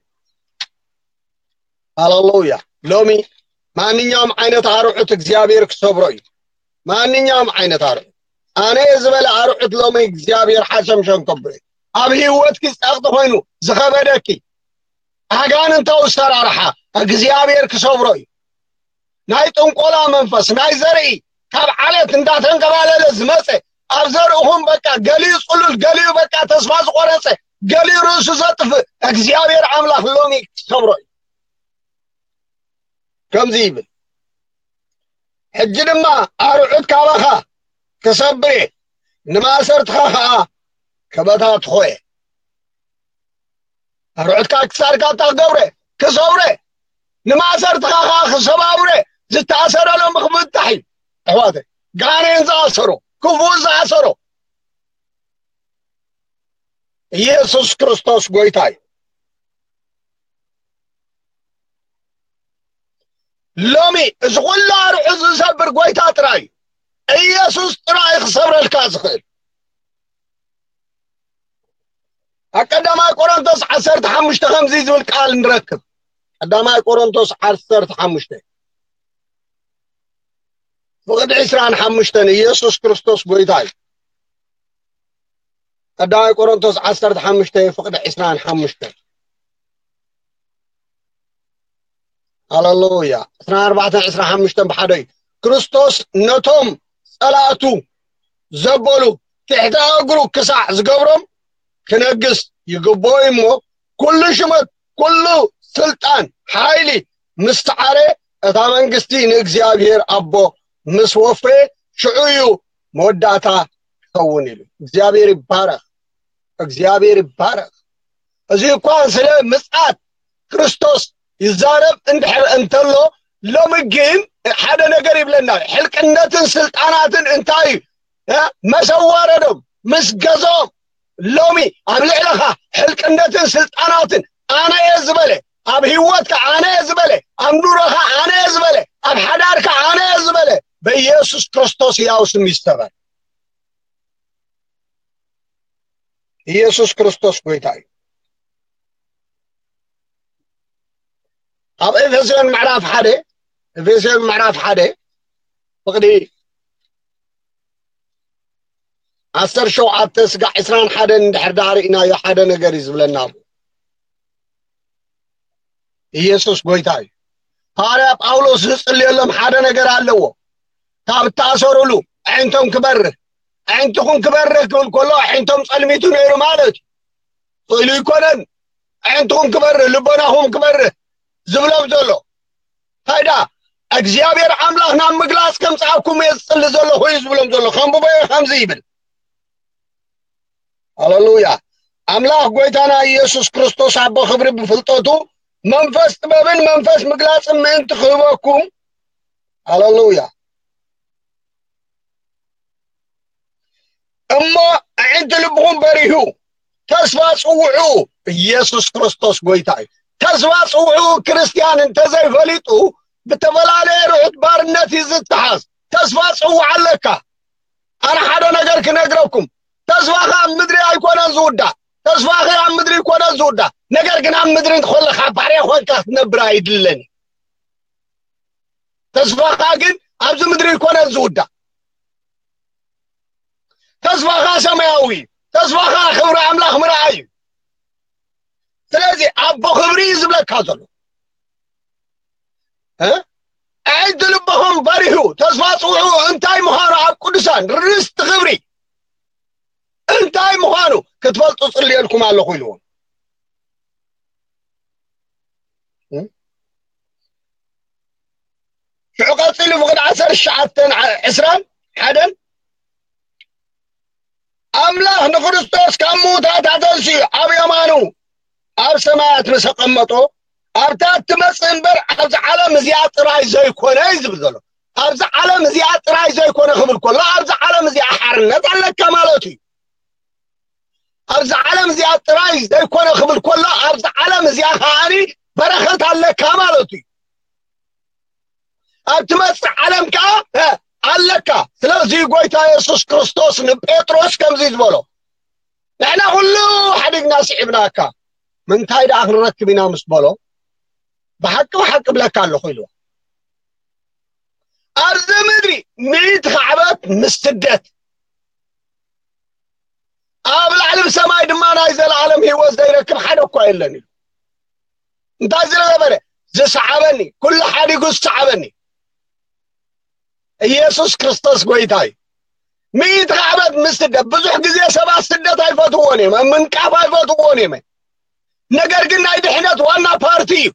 ሃሌሉያ። ሎሚ ማንኛውም ዓይነት ኣርዑት እግዚኣብሔር ክሰብሮ እዩ። ማንኛውም ዓይነት ኣርዑት። ኣነ ዝበለ ኣርዑት ሎሚ እግዚኣብሔር ሓሸምሸም ከብሎ እዩ። ኣብ ህይወትኪ ጸቕጢ ኮይኑ ዝኸበደኪ ኣጋንንታዊ ኣሰራርሓ እግዚኣብሔር ክሰብሮ እዩ። ናይ ጥንቆላ መንፈስ፣ ናይ ዘርኢ ካብ ዓለት እንዳተንከባለለ ዝመጸ፣ ኣብ ዘርእኹም በቃ ገሊኡ ጽሉል፣ ገሊኡ በቃ ተስፋ ዝቆረጸ፣ ገሊኡ ርእሱ ዘጥፍእ፣ እግዚኣብሔር ኣምላኽ ሎሚ ክሰብሮ እዩ። ከምዚ ይብል፣ ሕጂ ድማ ኣርዑት ካባኻ ክሰብር እየ፣ ንማእሰርትኻ ኸኣ ክበታትኾ እየ። ኣርዑትካ ክሳድካ እታ ክገብረ ክሰብረ፣ ንማእሰርትኻ ኸዓ ክሰባብረ፣ ዝተኣሰረ ሎሚ ክፍታሕ እዩ። ኣሕዋተ፣ ጋኔን ዝኣሰሮ፣ ክፉእ ዝኣሰሮ፣ ኢየሱስ ክርስቶስ ጎይታ እዩ። ሎሚ እዚ ኩሉ ኣርዑት ዝሰብር ጎይታ ጥራይ እዩ። ኢየሱስ ጥራይ ክሰብረልካ ዝኽእል። ኣብ ቀዳማይ ቆሮንቶስ ዓሰርተ ሓሙሽተ ከምዚ ዝብል ቃል ንረክብ። ቀዳማይ ቆሮንቶስ ዓሰርተ ሓሙሽተ ፍቕዲ ዕስራን ሓሙሽተን፣ ኢየሱስ ክርስቶስ ጎይታ እዩ። ቀዳማይ ቆሮንቶስ ዓሰርተ ሓሙሽተ ፍቕዲ ዕስራን ሓሙሽተን። ሃሌሉያ። ዕስራን ኣርባዕተን ዕስራን ሓሙሽተን ብሓደ እዩ። ክርስቶስ ነቶም ጸላእቱ ዘበሉ ትሕቲ እግሩ ክሳዕ ዝገብሮም ክነግስ ይግብኦ እዩ እሞ፣ ኩሉ ሹመት፣ ኩሉ ስልጣን፣ ሓይሊ ምስ ሰዓረ፣ እታ መንግስቲ ንእግዚኣብሔር ኣቦ ምስ ወፈየ፣ ሽዑ እዩ መወዳእታ ክኸውን ኢሉ። እግዚኣብሔር ይባረኽ። እግዚኣብሔር ይባረኽ። እዚ እኳ ስለ ምጽኣት ክርስቶስ ይዛረብ እንድሕር እንተሎ፣ ሎሚ ግን ሓደ ነገር ይብለና። ሕልቅነትን ስልጣናትን እንታይ እዩ? እ? መሰዋረዶም ምስ ገዝኦም ሎሚ ኣብ ልዕለኻ ሕልቅነትን ስልጣናትን ኣነ እየ ዝበለ፣ ኣብ ህይወትካ ኣነ እየ ዝበለ፣ ኣብ ኑሮኻ ኣነ እየ ዝበለ፣ ኣብ ሓዳርካ ኣነ እየ ዝበለ፣ በኢየሱስ ክርስቶስ ሕያው ስም ይሰበር። ኢየሱስ ክርስቶስ ጎይታ እዩ። ኣብ ኤፌሶን ምዕራፍ ሓደ፣ ኤፌሶን ምዕራፍ ሓደ ፍቕዲ ዓሰርተ ሸውዓተ ስጋዕ ዕስራን ሓደን እንድሕር ደኣ ርኢናዮ ሓደ ነገር እዩ ዝብለና። ኢየሱስ ጎይታ እዩ። ሃዋርያ ጳውሎስ ዝጽልየሎም ሓደ ነገር ኣለዎ። ካብ እተኣሰሩሉ ኣዒንቶም ክበርህ፣ ኣዒንትኹም ክበርህ ክብል ከሎ ኣዒንቶም ጸልሚቱ ነይሩ ማለት እዩ። ስእሉ ይኮነን። ኣዒንትኹም ክበርህ፣ ልቦናኹም ክበርህ ዝብሎም ዘሎ። እንታይ ደኣ እግዚኣብሔር ኣምላኽ ናብ ምግላጽ ከምጽኣኩም እየ ዝጽሊ ዘለኹ እዩ ዝብሎም ዘሎ። ከንብቦ እየ ከምዚ ይብል። ሃሌሉያ። ኣምላኽ ጎይታና ኢየሱስ ክርስቶስ ኣቦ ክብሪ ብፍልጠቱ መንፈስ ጥበብን መንፈስ ምግላጽን ምእንቲ ክህበኩም። ሃሌሉያ። እሞ ኣዒንቲ ልብኹም በሪሁ፣ ተስፋ ጽውዑ። ኢየሱስ ክርስቶስ ጎይታ እዩ። ተስፋ ጽውዑ። ክርስትያን እንተዘይፈሊጡ ብተፈላለየ ርሑት ባርነት እዩ ዝተሓዝ። ተስፋ ጽውዕ ኣለካ። ኣነ ሓደ ነገር ክነግረኩም፣ ተስፋኻ ኣብ ምድሪ ኣይኮነን ዝውዳእ። ተስፋኺ ኣብ ምድሪ ኣይኮነን ዝውዳእ። ነገር ግን ኣብ ምድሪ እንተኾለኻ ባርያ ኮይንካ ክትነብር ኣይድለን እዩ። ተስፋኻ ግን ኣብዚ ምድሪ ኣይኮነን ዝውዳእ። ተስፋኻ ሰማያዊ እዩ። ተስፋኻ ክብሪ ኣምላኽ ምርኣይ እዩ። ስለዚ ኣቦ ክብሪ እዩ ዝብለካ ዘሎ። እ? ኣዒንቲ ልብኹም በሪሁ፣ ተስፋ ጽውዑ። እንታይ ምዃኑ ኣብ ቅዱሳን ርስቲ ክብሪ እንታይ ምዃኑ ክትፈልጡ ጽልየልኩም ኣለኹ ኢልዎም። እ? ሽዑ ቀጺሉ ፍቕዲ ዓሰርተ ትሽዓተን ዓ-፣ ዕስራን ሓደን፣ ኣምላኽ ንክርስቶስ ካብ ምዉታት ኣተንስኡ ኣብ የማኑ ኣብ ሰማያት ምስ ኣቐመጦ፣ ኣብታ እትመጽእ እምበር ኣብዚ ዓለም እዚኣ ጥራይ ዘይኮነ እዩ ዝብል ዘሎ። ኣብዚ ዓለም እዚኣ ጥራይ ዘይኮነ ክብል ከሎ፣ ኣብዚ ዓለም እዚኣ ሓርነት ኣለካ ማለት እዩ። ኣብዚ ዓለም እዚኣ ጥራይ ዘይኮነ ክብል ከሎ፣ ኣብዚ ዓለም እዚኣ ከዓኒ በረኸት ኣለካ ማለት እዩ። ኣብ ትመጽእ ዓለም ከኣ፣ እ፣ ኣለካ። ስለዚ ጎይታ የሱስ ክርስቶስ ንጴጥሮስ ከምዚ ዝበሎ፣ ንሕና ኩሉ ሓዲግና ስዒብናካ፣ ምንታይ ደኣ ክንረክብ ኢና ምስ በሎ፣ ብሓቂ ብሓቂ እብለካ ኣለኹ ኢልዎ። ኣብዚ ምድሪ ምእንቲ ካዕበት ምስ ስደት፣ ኣብ ላዕሊ ብሰማይ ድማ ናይ ዘለኣለም ህይወት ዘይረክብ ሓደ እኳ የለን ኢሉ። እንታይ ዝገበረ? ዝሰዓበኒ፣ ኩሉ ሓዲጉ ዝሰዓበኒ። ኢየሱስ ክርስቶስ ጎይታ እዩ። ምእንቲ ዓመት ምስ ስደት፣ ብዙሕ ግዜ ሰባት ስደት ኣይፈትዎን እዮም፣ ኣብ ምንቃፍ ኣይፈትዎን እዮም። ነገር ግን ናይ ድሕነት ዋና ፓርቲ እዩ።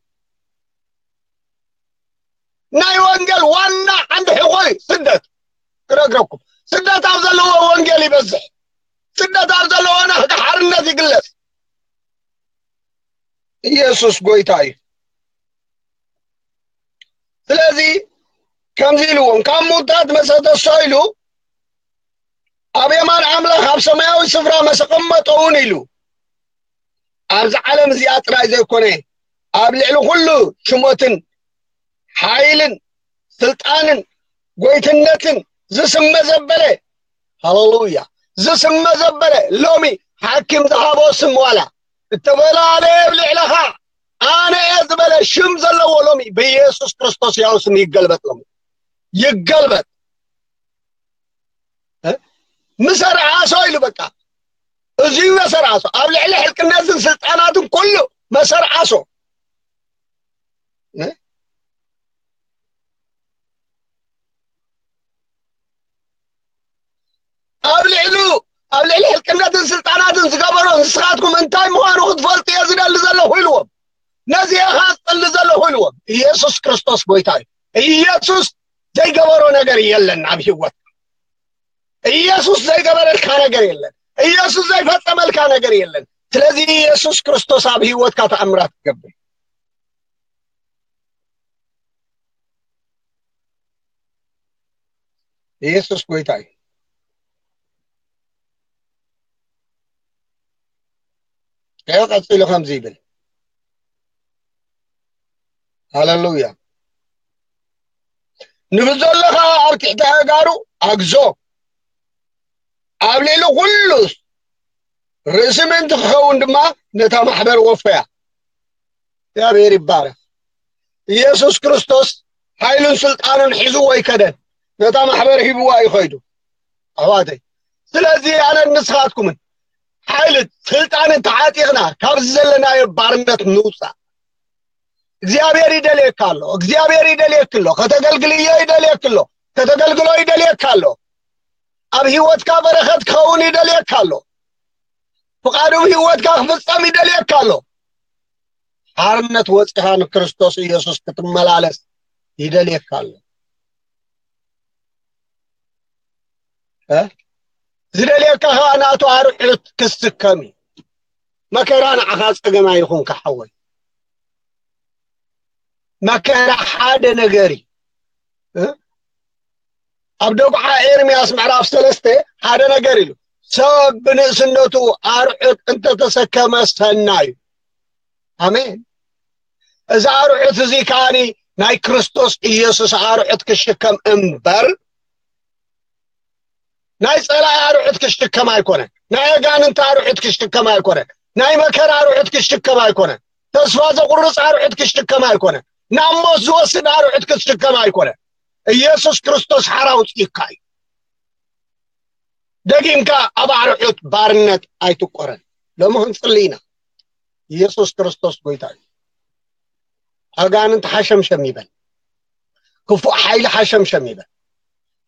ናይ ወንጌል ዋና ዓንዲ ሕቖ እዩ ስደት። ክነግረኩም፣ ስደት ኣብ ዘለዎ ወንጌል ይበዝሕ። ስደት ኣብ ዘለዎ ናህዲ ሓርነት ይግለጽ። ኢየሱስ ጎይታ እዩ። ስለዚ ከምዚ ኢልዎም፣ ካብ ሙታት መሰ ተስኦ ኢሉ፣ ኣብ የማን ኣምላኽ ኣብ ሰማያዊ ስፍራ መሰ ቀመጦ እውን ኢሉ። ኣብዚ ዓለም እዚኣ ጥራይ ዘይኮነ፣ ኣብ ልዕሊ ኩሉ ሽሞትን ሓይልን ስልጣንን ጎይትነትን ዝስመ ዘበለ፣ ሃሌሉያ፣ ዝስመ ዘበለ፣ ሎሚ ሓኪም ዝሃቦ ስም ዋላ እተፈላለየ ኣብ ልዕለኻ ኣነ እየ ዝበለ ሽም ዘለዎ ሎሚ ብኢየሱስ ክርስቶስ ያው ስም ይገልበጥ፣ ሎሚ ይገልበጥ። እ? ምሰርዓሶ ኢሉ በቃ። እዚ መሰርዓሶ ኣብ ልዕሊ ሕልቅነትን ስልጣናትን ኩሉ መሰርዓሶ። እ? ኣብ ልዕሉ፣ ኣብ ልዕሊ ሕልቅነትን ስልጣናትን ዝገበሮ ንስኻትኩም እንታይ ምዃኑ ክትፈልጡ እየ ዝደሊ ዘለኹ ኢልዎም። ነዚ እየ ዝጸሊ ዘለኹ ኢልዎም። ኢየሱስ ክርስቶስ ጎይታ እዩ። ኢየሱስ ዘይገበሮ ነገር የለን ኣብ ህይወት። ኢየሱስ ዘይገበረልካ ነገር የለን። ኢየሱስ ዘይፈጸመልካ ነገር የለን። ስለዚ ኢየሱስ ክርስቶስ ኣብ ህይወትካ ተኣምራት ትገብር። ኢየሱስ ጎይታ እዩ። ያው ቀጺሉ ከምዚ ይብል። ሃሌሉያ። ንብዘሎ ኸኣ ኣብ ትሕቲ ኣእጋሩ ኣግዞ። ኣብ ልዕሊ ኩሉ ርእሲ ምእንቲ ክኸውን ድማ ነታ ማሕበር ወፈያ። እግዚኣብሔር ይባረኽ። ኢየሱስ ክርስቶስ ሓይሉን ስልጣኑን ሒዙ ኣይከደን። ነታ ማሕበር ሂብዋ እዩ ኸይዱ። ኣሕዋተይ፣ ስለዚ ኣነን ንስኻትኩምን ሓይልን ስልጣንን ተዓጢቕና ካብዚ ዘለናዮ ባርነት ንውፃእ። እግዚኣብሔር ይደልየካ ኣሎ። እግዚኣብሔር ይደልየክ ኣሎ። ከተገልግልዮ ይደልየክ ኣሎ። ከተገልግሎ ይደልየካ ኣሎ። ኣብ ህይወትካ በረኸት ክኸውን ይደልየካ ኣሎ። ፍቓዱ ኣብ ህይወትካ ክፍጸም ይደልየካ ኣሎ። ሓርነት ወጺኻ ንክርስቶስ ኢየሱስ ክትመላለስ ይደልየካ ኣሎ። እ? ዝደልየካ ኸኣ ናቱ ኣርዑት ክስከም እዩ። መከራ ንዓኻ ጸገም ኣይኹንካ ሓወይ። መከራ ሓደ ነገር እዩ። እ? ኣብ ደጉዓ ኤርምያስ ምዕራፍ ሰለስተ ሓደ ነገር ኢሉ፣ ሰብ ብንእስነቱ ኣርዑት እንተተሰከመ ሰናይ እዩ። ኣሜን። እዚ ኣርዑት እዚ ከኣኒ ናይ ክርስቶስ ኢየሱስ ኣርዑት ክሽከም እምበር ናይ ጸላኢ ኣርዑት ክሽከም ኣይኮነን። ናይ ኣጋንንቲ ኣርዑት ክሽከም ኣይኮነን። ናይ መከራ ኣርዑት ክሽከም ኣይኮነን። ተስፋ ዘቑርጽ ኣርዑት ክሽከም ኣይኮነን። ናብ ሞት ዝወስድ ኣርዑት ክሽከም ኣይኮነን። ኢየሱስ ክርስቶስ ሓራ ኣውጺእካ እዩ። ደጊምካ ኣብ ኣርዑት ባርነት ኣይትቆረን። ሎሚ ክንጽሊ ኢና። ኢየሱስ ክርስቶስ ጎይታ እዩ። ኣጋንንት ሓሸምሸም ይበል። ክፉእ ሓይሊ ሓሸምሸም ይበል።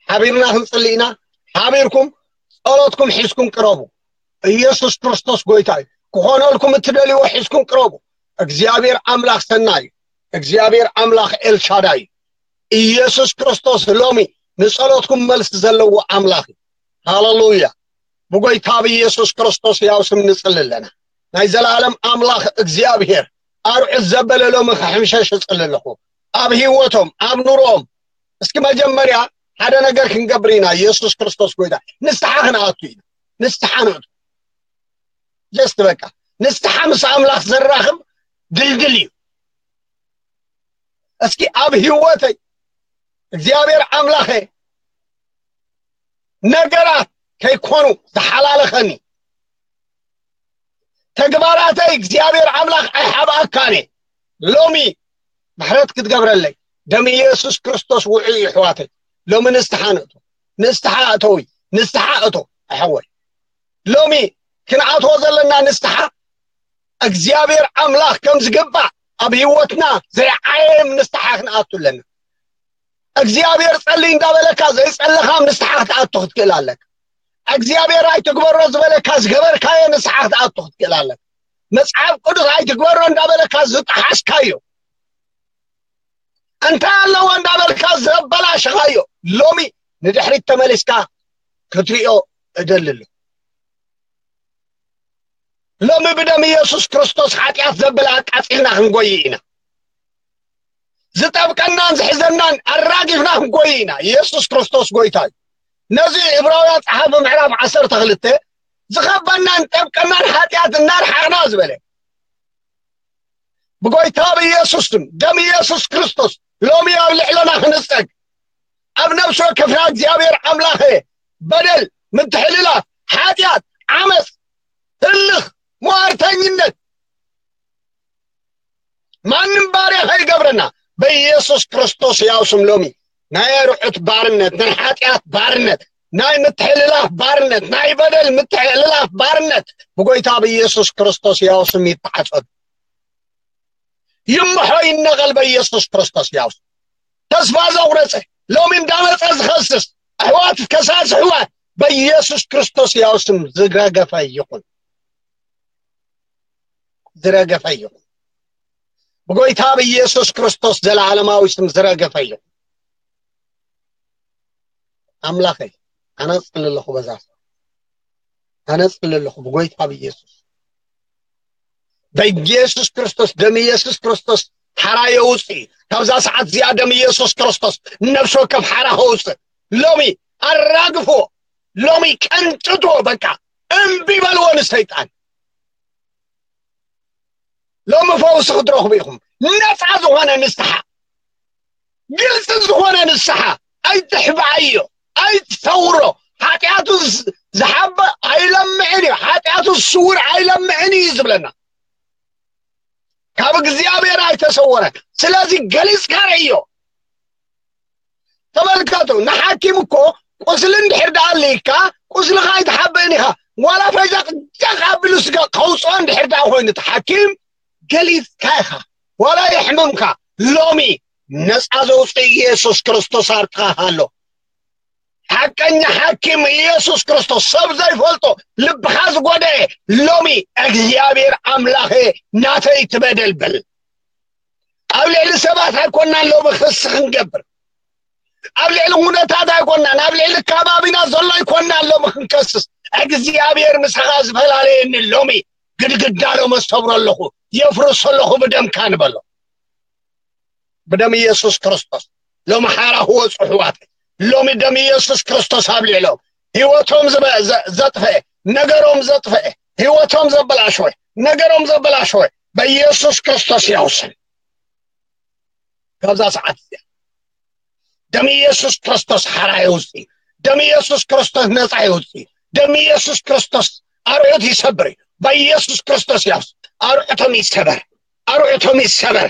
ሓቢርና ክንጽሊ ኢና። ሓቢርኩም ጸሎትኩም ሒዝኩም ቅረቡ። ኢየሱስ ክርስቶስ ጎይታ እዩ። ክኾነልኩም እትደልይዎ ሒዝኩም ቅረቡ። እግዚኣብሔር ኣምላኽ ሰናይ እዩ። እግዚኣብሔር ኣምላኽ ኤልሻዳይ እዩ። ኢየሱስ ክርስቶስ ሎሚ ንጸሎትኩም መልሲ ዘለዎ ኣምላኽ እዩ። ሃሌሉያ። ብጎይታ ብኢየሱስ ክርስቶስ ያው ስም ንጽሊ ኣለና። ናይ ዘላለም ኣምላኽ እግዚኣብሔር ኣርዑት ዘበለ ሎሚ ክሕምሸሽ እጽሊ ኣለኹ። ኣብ ህይወቶም፣ ኣብ ኑሮኦም። እስኪ መጀመርያ ሓደ ነገር ክንገብር ኢና። ኢየሱስ ክርስቶስ ጎይታ። ንስሓ ክንኣቱ ኢና። ንስሓ ንእቱ። ጀስት በቃ። ንስሓ ምስ ኣምላኽ ዘራኽብ ድልድል እዩ። እስኪ ኣብ ህይወተይ እግዚኣብሔር ኣምላኸ ነገራት ከይኮኑ ዝሓላለኸኒ ተግባራተይ እግዚኣብሔር ኣምላኽ ኣይሓብኣካን እየ። ሎሚ ምሕረት ክትገብረለይ ደም ኢየሱስ ክርስቶስ ውዑይ እዩ። ኣሕዋተይ፣ ሎሚ ንስሓ ንእቶ፣ ንስሓ ኣተዊ፣ ንስሓ እቶ። ኣሕወይ፣ ሎሚ ክንኣትዎ ዘለና ንስሓ እግዚኣብሔር ኣምላኽ ከም ዝግባእ ኣብ ህይወትና ዘይዓየም ንስሓ ክንኣቱ ኣለና። እግዚኣብሔር ጸሊ እንዳበለካ ዘይጸለኻ ንስሓ ክትኣቱ ክትክእል ኣለካ። እግዚኣብሔር ኣይትግበሮ ዝበለካ ዝገበርካዮ ንስሓ ክትኣቱ ክትክእል ኣለካ። መጽሓፍ ቅዱስ ኣይትግበሮ እንዳበለካ ዝጠሓስካዮ፣ እንታይ ኣለዎ እንዳበልካ ዘበላሸኻዮ፣ ሎሚ ንድሕሪት ተመሊስካ ክትሪኦ እደሊ ኣለኹ። ሎሚ ብደም ኢየሱስ ክርስቶስ ሓጢኣት ዘብል ኣቃጺልና ክንጎይ ኢና። ዝጠብቀናን ዝሕዘናን ኣራጊፍና ክንጎይ ኢና። ኢየሱስ ክርስቶስ ጎይታ እዩ። ነዚ ዕብራውያን ጸሓፊ ምዕራፍ ዓሰርተ ክልተ ዝኸበናን ጠብቀናን ሓጢኣት እናርሓቕና ዝበለ ብጎይታ ብኢየሱስ ስም ደም ኢየሱስ ክርስቶስ ሎሚ ኣብ ልዕለና ክንጸግ ኣብ ነፍሲ ወከፍና እግዚኣብሔር ኣምላኸ በደል፣ ምትሕልላፍ፣ ሓጢኣት፣ ዓመፅ፣ ህልኽ፣ ሟርተኝነት ማንም ባርያ ከይገብረና በኢየሱስ ክርስቶስ ያው ስም ሎሚ ናይ ኣርዑት ባርነት፣ ናይ ሓጢኣት ባርነት፣ ናይ ምትሕልላፍ ባርነት፣ ናይ በደል ምትሕልላፍ ባርነት ብጎይታ ብኢየሱስ ክርስቶስ ያው ስም ይተዓጸዱ። ይምሖ ይነቐል በኢየሱስ ክርስቶስ ያው ስም። ተስፋ ዘቑረጸ ሎሚ እንዳመጸ ዝኸስስ ኣሕዋት ከሳስ ኣሕዋት በኢየሱስ ክርስቶስ ያው ስም ዝረገፈ ይኹን። ዝረገፈ ይኹን። ብጎይታ ብኢየሱስ ክርስቶስ ዘለዓለማዊ ስም ዝረገፈ ይኹን። ኣምላኸይ ኣነ እጽሊ ኣለኹ በዛ ሰብ። ኣነ እጽሊ ኣለኹ ብጎይታ ብኢየሱስ። በኢየሱስ ክርስቶስ ደም ኢየሱስ ክርስቶስ ሓራ የውጽእ እዩ። ካብዛ ሰዓት እዚኣ ደም ኢየሱስ ክርስቶስ ንነፍሲ ወከፍ ሓራ ከውጽእ ሎሚ ኣራግፎ፣ ሎሚ ቀንጥቶ፣ በቃ እምቢ በልዎ ንሰይጣን። ሎሚ ፈውሲ ክትረኽቡ ኢኹም። ነፃ ዝኾነ ንስሓ፣ ግልፂ ዝኾነ ንስሓ። ኣይትሕብኣዮ፣ ኣይትሰውሮ። ሓጢኣቱ ዝ- ዝሓበ ኣይለምዕን እዩ። ሓጢኣቱ ስውር ኣይለምዕን እዩ ዝብለና። ካብ እግዚኣብሔር ኣይተሰወረ። ስለዚ ገሊፅካ ርእዮ። ተመልከቱ፣ ንሓኪም እኮ ቁስሊ እንድሕር ደኣ ኣልይካ፣ ቁስልኻ ኣይትሓብእን ኢኻ። ዋላ ፈይዛ ጃኽ ኣቢሉ ስጋ ከውፅኦ እንድሕር ደኣ ኮይኑ፣ እቲ ሓኪም ገሊፅካ ኢኻ። ዋላ የሕምምካ፣ ሎሚ ነፃ ዘውፅእ ኢየሱስ ክርስቶስ ኣብ ጥቓኻ ኣሎ። ሓቀኛ ሓኪም ኢየሱስ ክርስቶስ፣ ሰብ ዘይፈልጦ፣ ልብኻ ዝጎደኤ፣ ሎሚ እግዚኣብሔር ኣምላኸ ናተይ ትበደል በል። ኣብ ልዕሊ ሰባት ኣይኮናን ሎሚ ክሲ ክንገብር፣ ኣብ ልዕሊ ኩነታት ኣይኮናን፣ ኣብ ልዕሊ ከባቢና ዘሎ ኣይኮናን ሎሚ ክንከስስ። እግዚኣብሔር ምሳኻ ዝፈላለየኒ ሎሚ ግድግዳ ሎሚ ሰብሮ ኣለኹ፣ የፍርሶ ኣለኹ ብደምካ ንበሎ። ብደም ኢየሱስ ክርስቶስ ሎሚ ሓራ ክወፁ ኣሕዋተይ። ሎሚ ደም ኢየሱስ ክርስቶስ ኣብ ልዕሎም፣ ህይወቶም ዝበ- ዘ- ዘጥፈአ፣ ነገሮም ዘጥፈአ፣ ህይወቶም ዘበላሸወ፣ ነገሮም ዘበላሸወ በኢየሱስ ክርስቶስ ያውስን። ካብዛ ሰዓት እዚኣ ደም ኢየሱስ ክርስቶስ ሓራ የውፅእ። ደም ኢየሱስ ክርስቶስ ነፃ የውፅእ። ደም ኢየሱስ ክርስቶስ ኣርዑት ይሰብር እዩ። በኢየሱስ ክርስቶስ ያውስ። ኣርዑቶም ይሰበር፣ ኣርዑቶም ይሰበር፣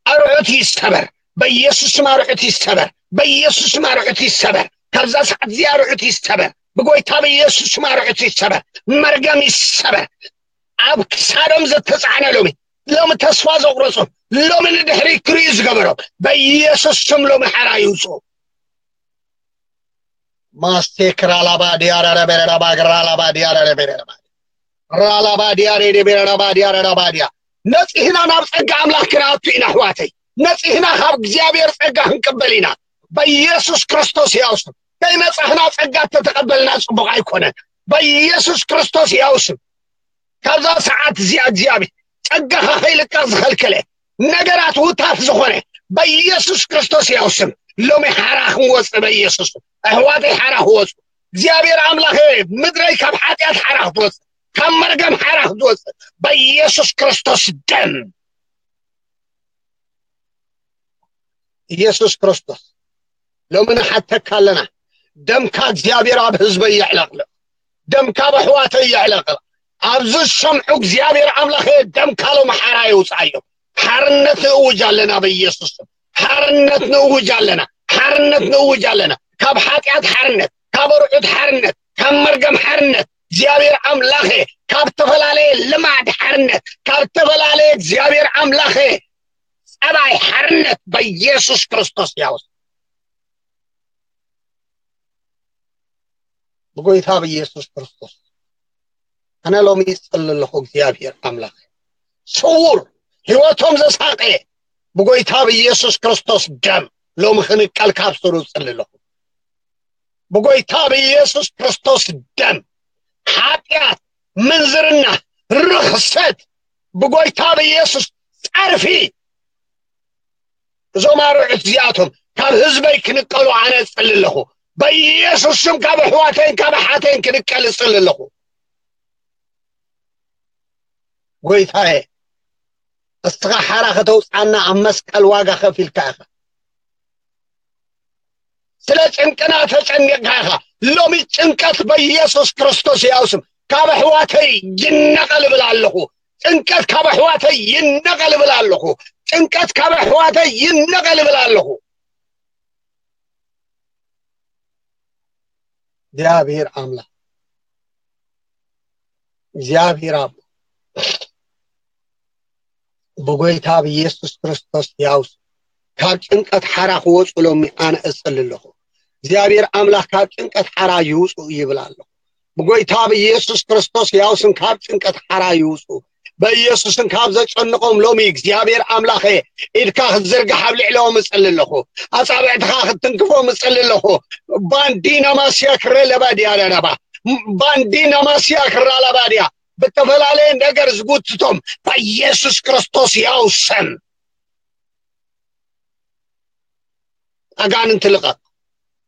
ኣርዑት ይሰበር። በኢየሱስ ስም ኣርዑት ይሰበር፣ በኢየሱስ ስም ኣርዑት ይሰበር። ካብዛ ሰዓት እዚኣ ኣርዑት ይሰበር፣ ብጎይታ በኢየሱስ ስም ኣርዑት ይሰበር። መርገም ይሰበር። ኣብ ክሳዶም ዘተፃዕነ ሎሚ፣ ሎሚ ተስፋ ዘቑረፁ፣ ሎሚ ንድሕሪ ክርእዩ ዝገበሮም በኢየሱስ ስም ሎሚ ሓራ ይውፁ። ማስቴክ ራላባ ዲያረረ ቤረራባ ራላባ ዲያረረ ቤረራባ ራላባ ዲያሬ ቤረራባ ዲያረራባ ዲያ። ነፂህና ናብ ፀጋ ኣምላኽ ክንኣቱ ኢና ኣሕዋተይ። ነፂህና ካብ እግዚኣብሔር ፀጋ ክንቅበል ኢና። በኢየሱስ ክርስቶስ ያውስም። ከይነፃህና ፀጋ ተተቐበልና ፅቡቕ ኣይኮነን። በኢየሱስ ክርስቶስ ያውስም። ካብዛ ሰዓት እዚኣ እግዚኣብሔር ጸጋኻ ከይልቀቕ ዝኸልከለ ነገራት ውታት ዝኾነ በኢየሱስ ክርስቶስ ያው ስም ሎሚ ሓራ ክንወጽእ በኢየሱስ ስም። ኣሕዋተይ ሓራ ክወጹ እግዚኣብሔር ኣምላኸ ምድረይ ካብ ሓጢኣት ሓራ ክትወጽእ ካብ መርገም ሓራ ክትወጽእ በኢየሱስ ክርስቶስ ደም ኢየሱስ ክርስቶስ ሎሚ ንሓተካ ኣለና። ደምካ እግዚኣብሔር ኣብ ህዝበይ የዕለቕልቕ። ደምካ ኣብ ኣሕዋተይ የዕለቕልቕ። ኣብዚ ዝሰምዑ እግዚኣብሔር ኣምላኸ ደምካ ሎሚ ሓራ የውፅኣዮም። ሓርነት ንእውጅ ኣለና በኢየሱስ ስም። ሓርነት ንእውጅ ኣለና። ሓርነት ንእውጅ ኣለና። ካብ ሓጢኣት ሓርነት፣ ካብ ኣርዑት ሓርነት፣ ካብ መርገም ሓርነት እግዚኣብሔር ኣምላኸ ካብ ዝተፈላለየ ልማድ ሓርነት፣ ካብ ዝተፈላለየ እግዚኣብሔር ኣምላኸ ጸባይ ሓርነት በኢየሱስ ክርስቶስ ያውስ ብጎይታ ብኢየሱስ ክርስቶስ ኣነ ሎሚ ይጽሊ ኣለኹ እግዚኣብሔር ኣምላኽ ስውር ህይወቶም ዘሳቀየ ብጎይታ ብኢየሱስ ክርስቶስ ደም ሎሚ ክንቀል ካብ ስሩ ይጽሊ ኣለኹ ብጎይታ ብኢየሱስ ክርስቶስ ደም ሓጢኣት ምንዝርና ርኽሰት ብጎይታ ብኢየሱስ ጸርፊ እዞም ኣርዑት እዚኣቶም ካብ ህዝበይ ክንቀሉ ኣነ እጽሊ ኣለኹ። በኢየሱስ ስም ካብ ኣሕዋተይን ካብ ኣሓተይን ክንቀል እጽሊ ኣለኹ። ጎይታየ፣ እስኻ ሓራ ከተውፅኣና ኣብ መስቀል ዋጋ ከፊልካ ኢኻ። ስለ ጭንቅና ተጨኒቕካ ኢኻ። ሎሚ ጭንቀት በኢየሱስ ክርስቶስ ያው ስም ካብ ኣሕዋተይ ይነቐል እብል ኣለኹ። ጭንቀት ካብ ኣሕዋተይ ይነቐል እብል ኣለኹ። ጭንቀት ካብ ኣሕዋተይ ይነቐል እብል ኣለኹ። እግዚኣብሔር ኣምላኽ እግዚኣብሔር ኣቦ ብጎይታ ብኢየሱስ ክርስቶስ ያውስ ካብ ጭንቀት ሓራ ክወፁ ሎሚ ኣነ እፅሊ ኣለኹ። እግዚኣብሔር ኣምላኽ ካብ ጭንቀት ሓራ ይውፁ ይብል ኣለኹ። ብጎይታ ብኢየሱስ ክርስቶስ ያውስን ካብ ጭንቀት ሓራ ይውፁ። በኢየሱስን ካብ ዘጨንቆም ሎሚ እግዚኣብሔር ኣምላኸ ኢድካ ክትዝርግሕ ኣብ ልዕሊኦም እጽሊ ኣለኹ። ኣጻብዕትኻ ክትትንክፎም እጽሊ ኣለኹ። ባንዲና ማስያ ክረ ለባድያ ለረባ ባንዲና ማስያ ክራ ለባድያ ብተፈላለየ ነገር ዝጉትቶም በኢየሱስ ክርስቶስ ያው ስም ኣጋንንቲ ልቐቕ፣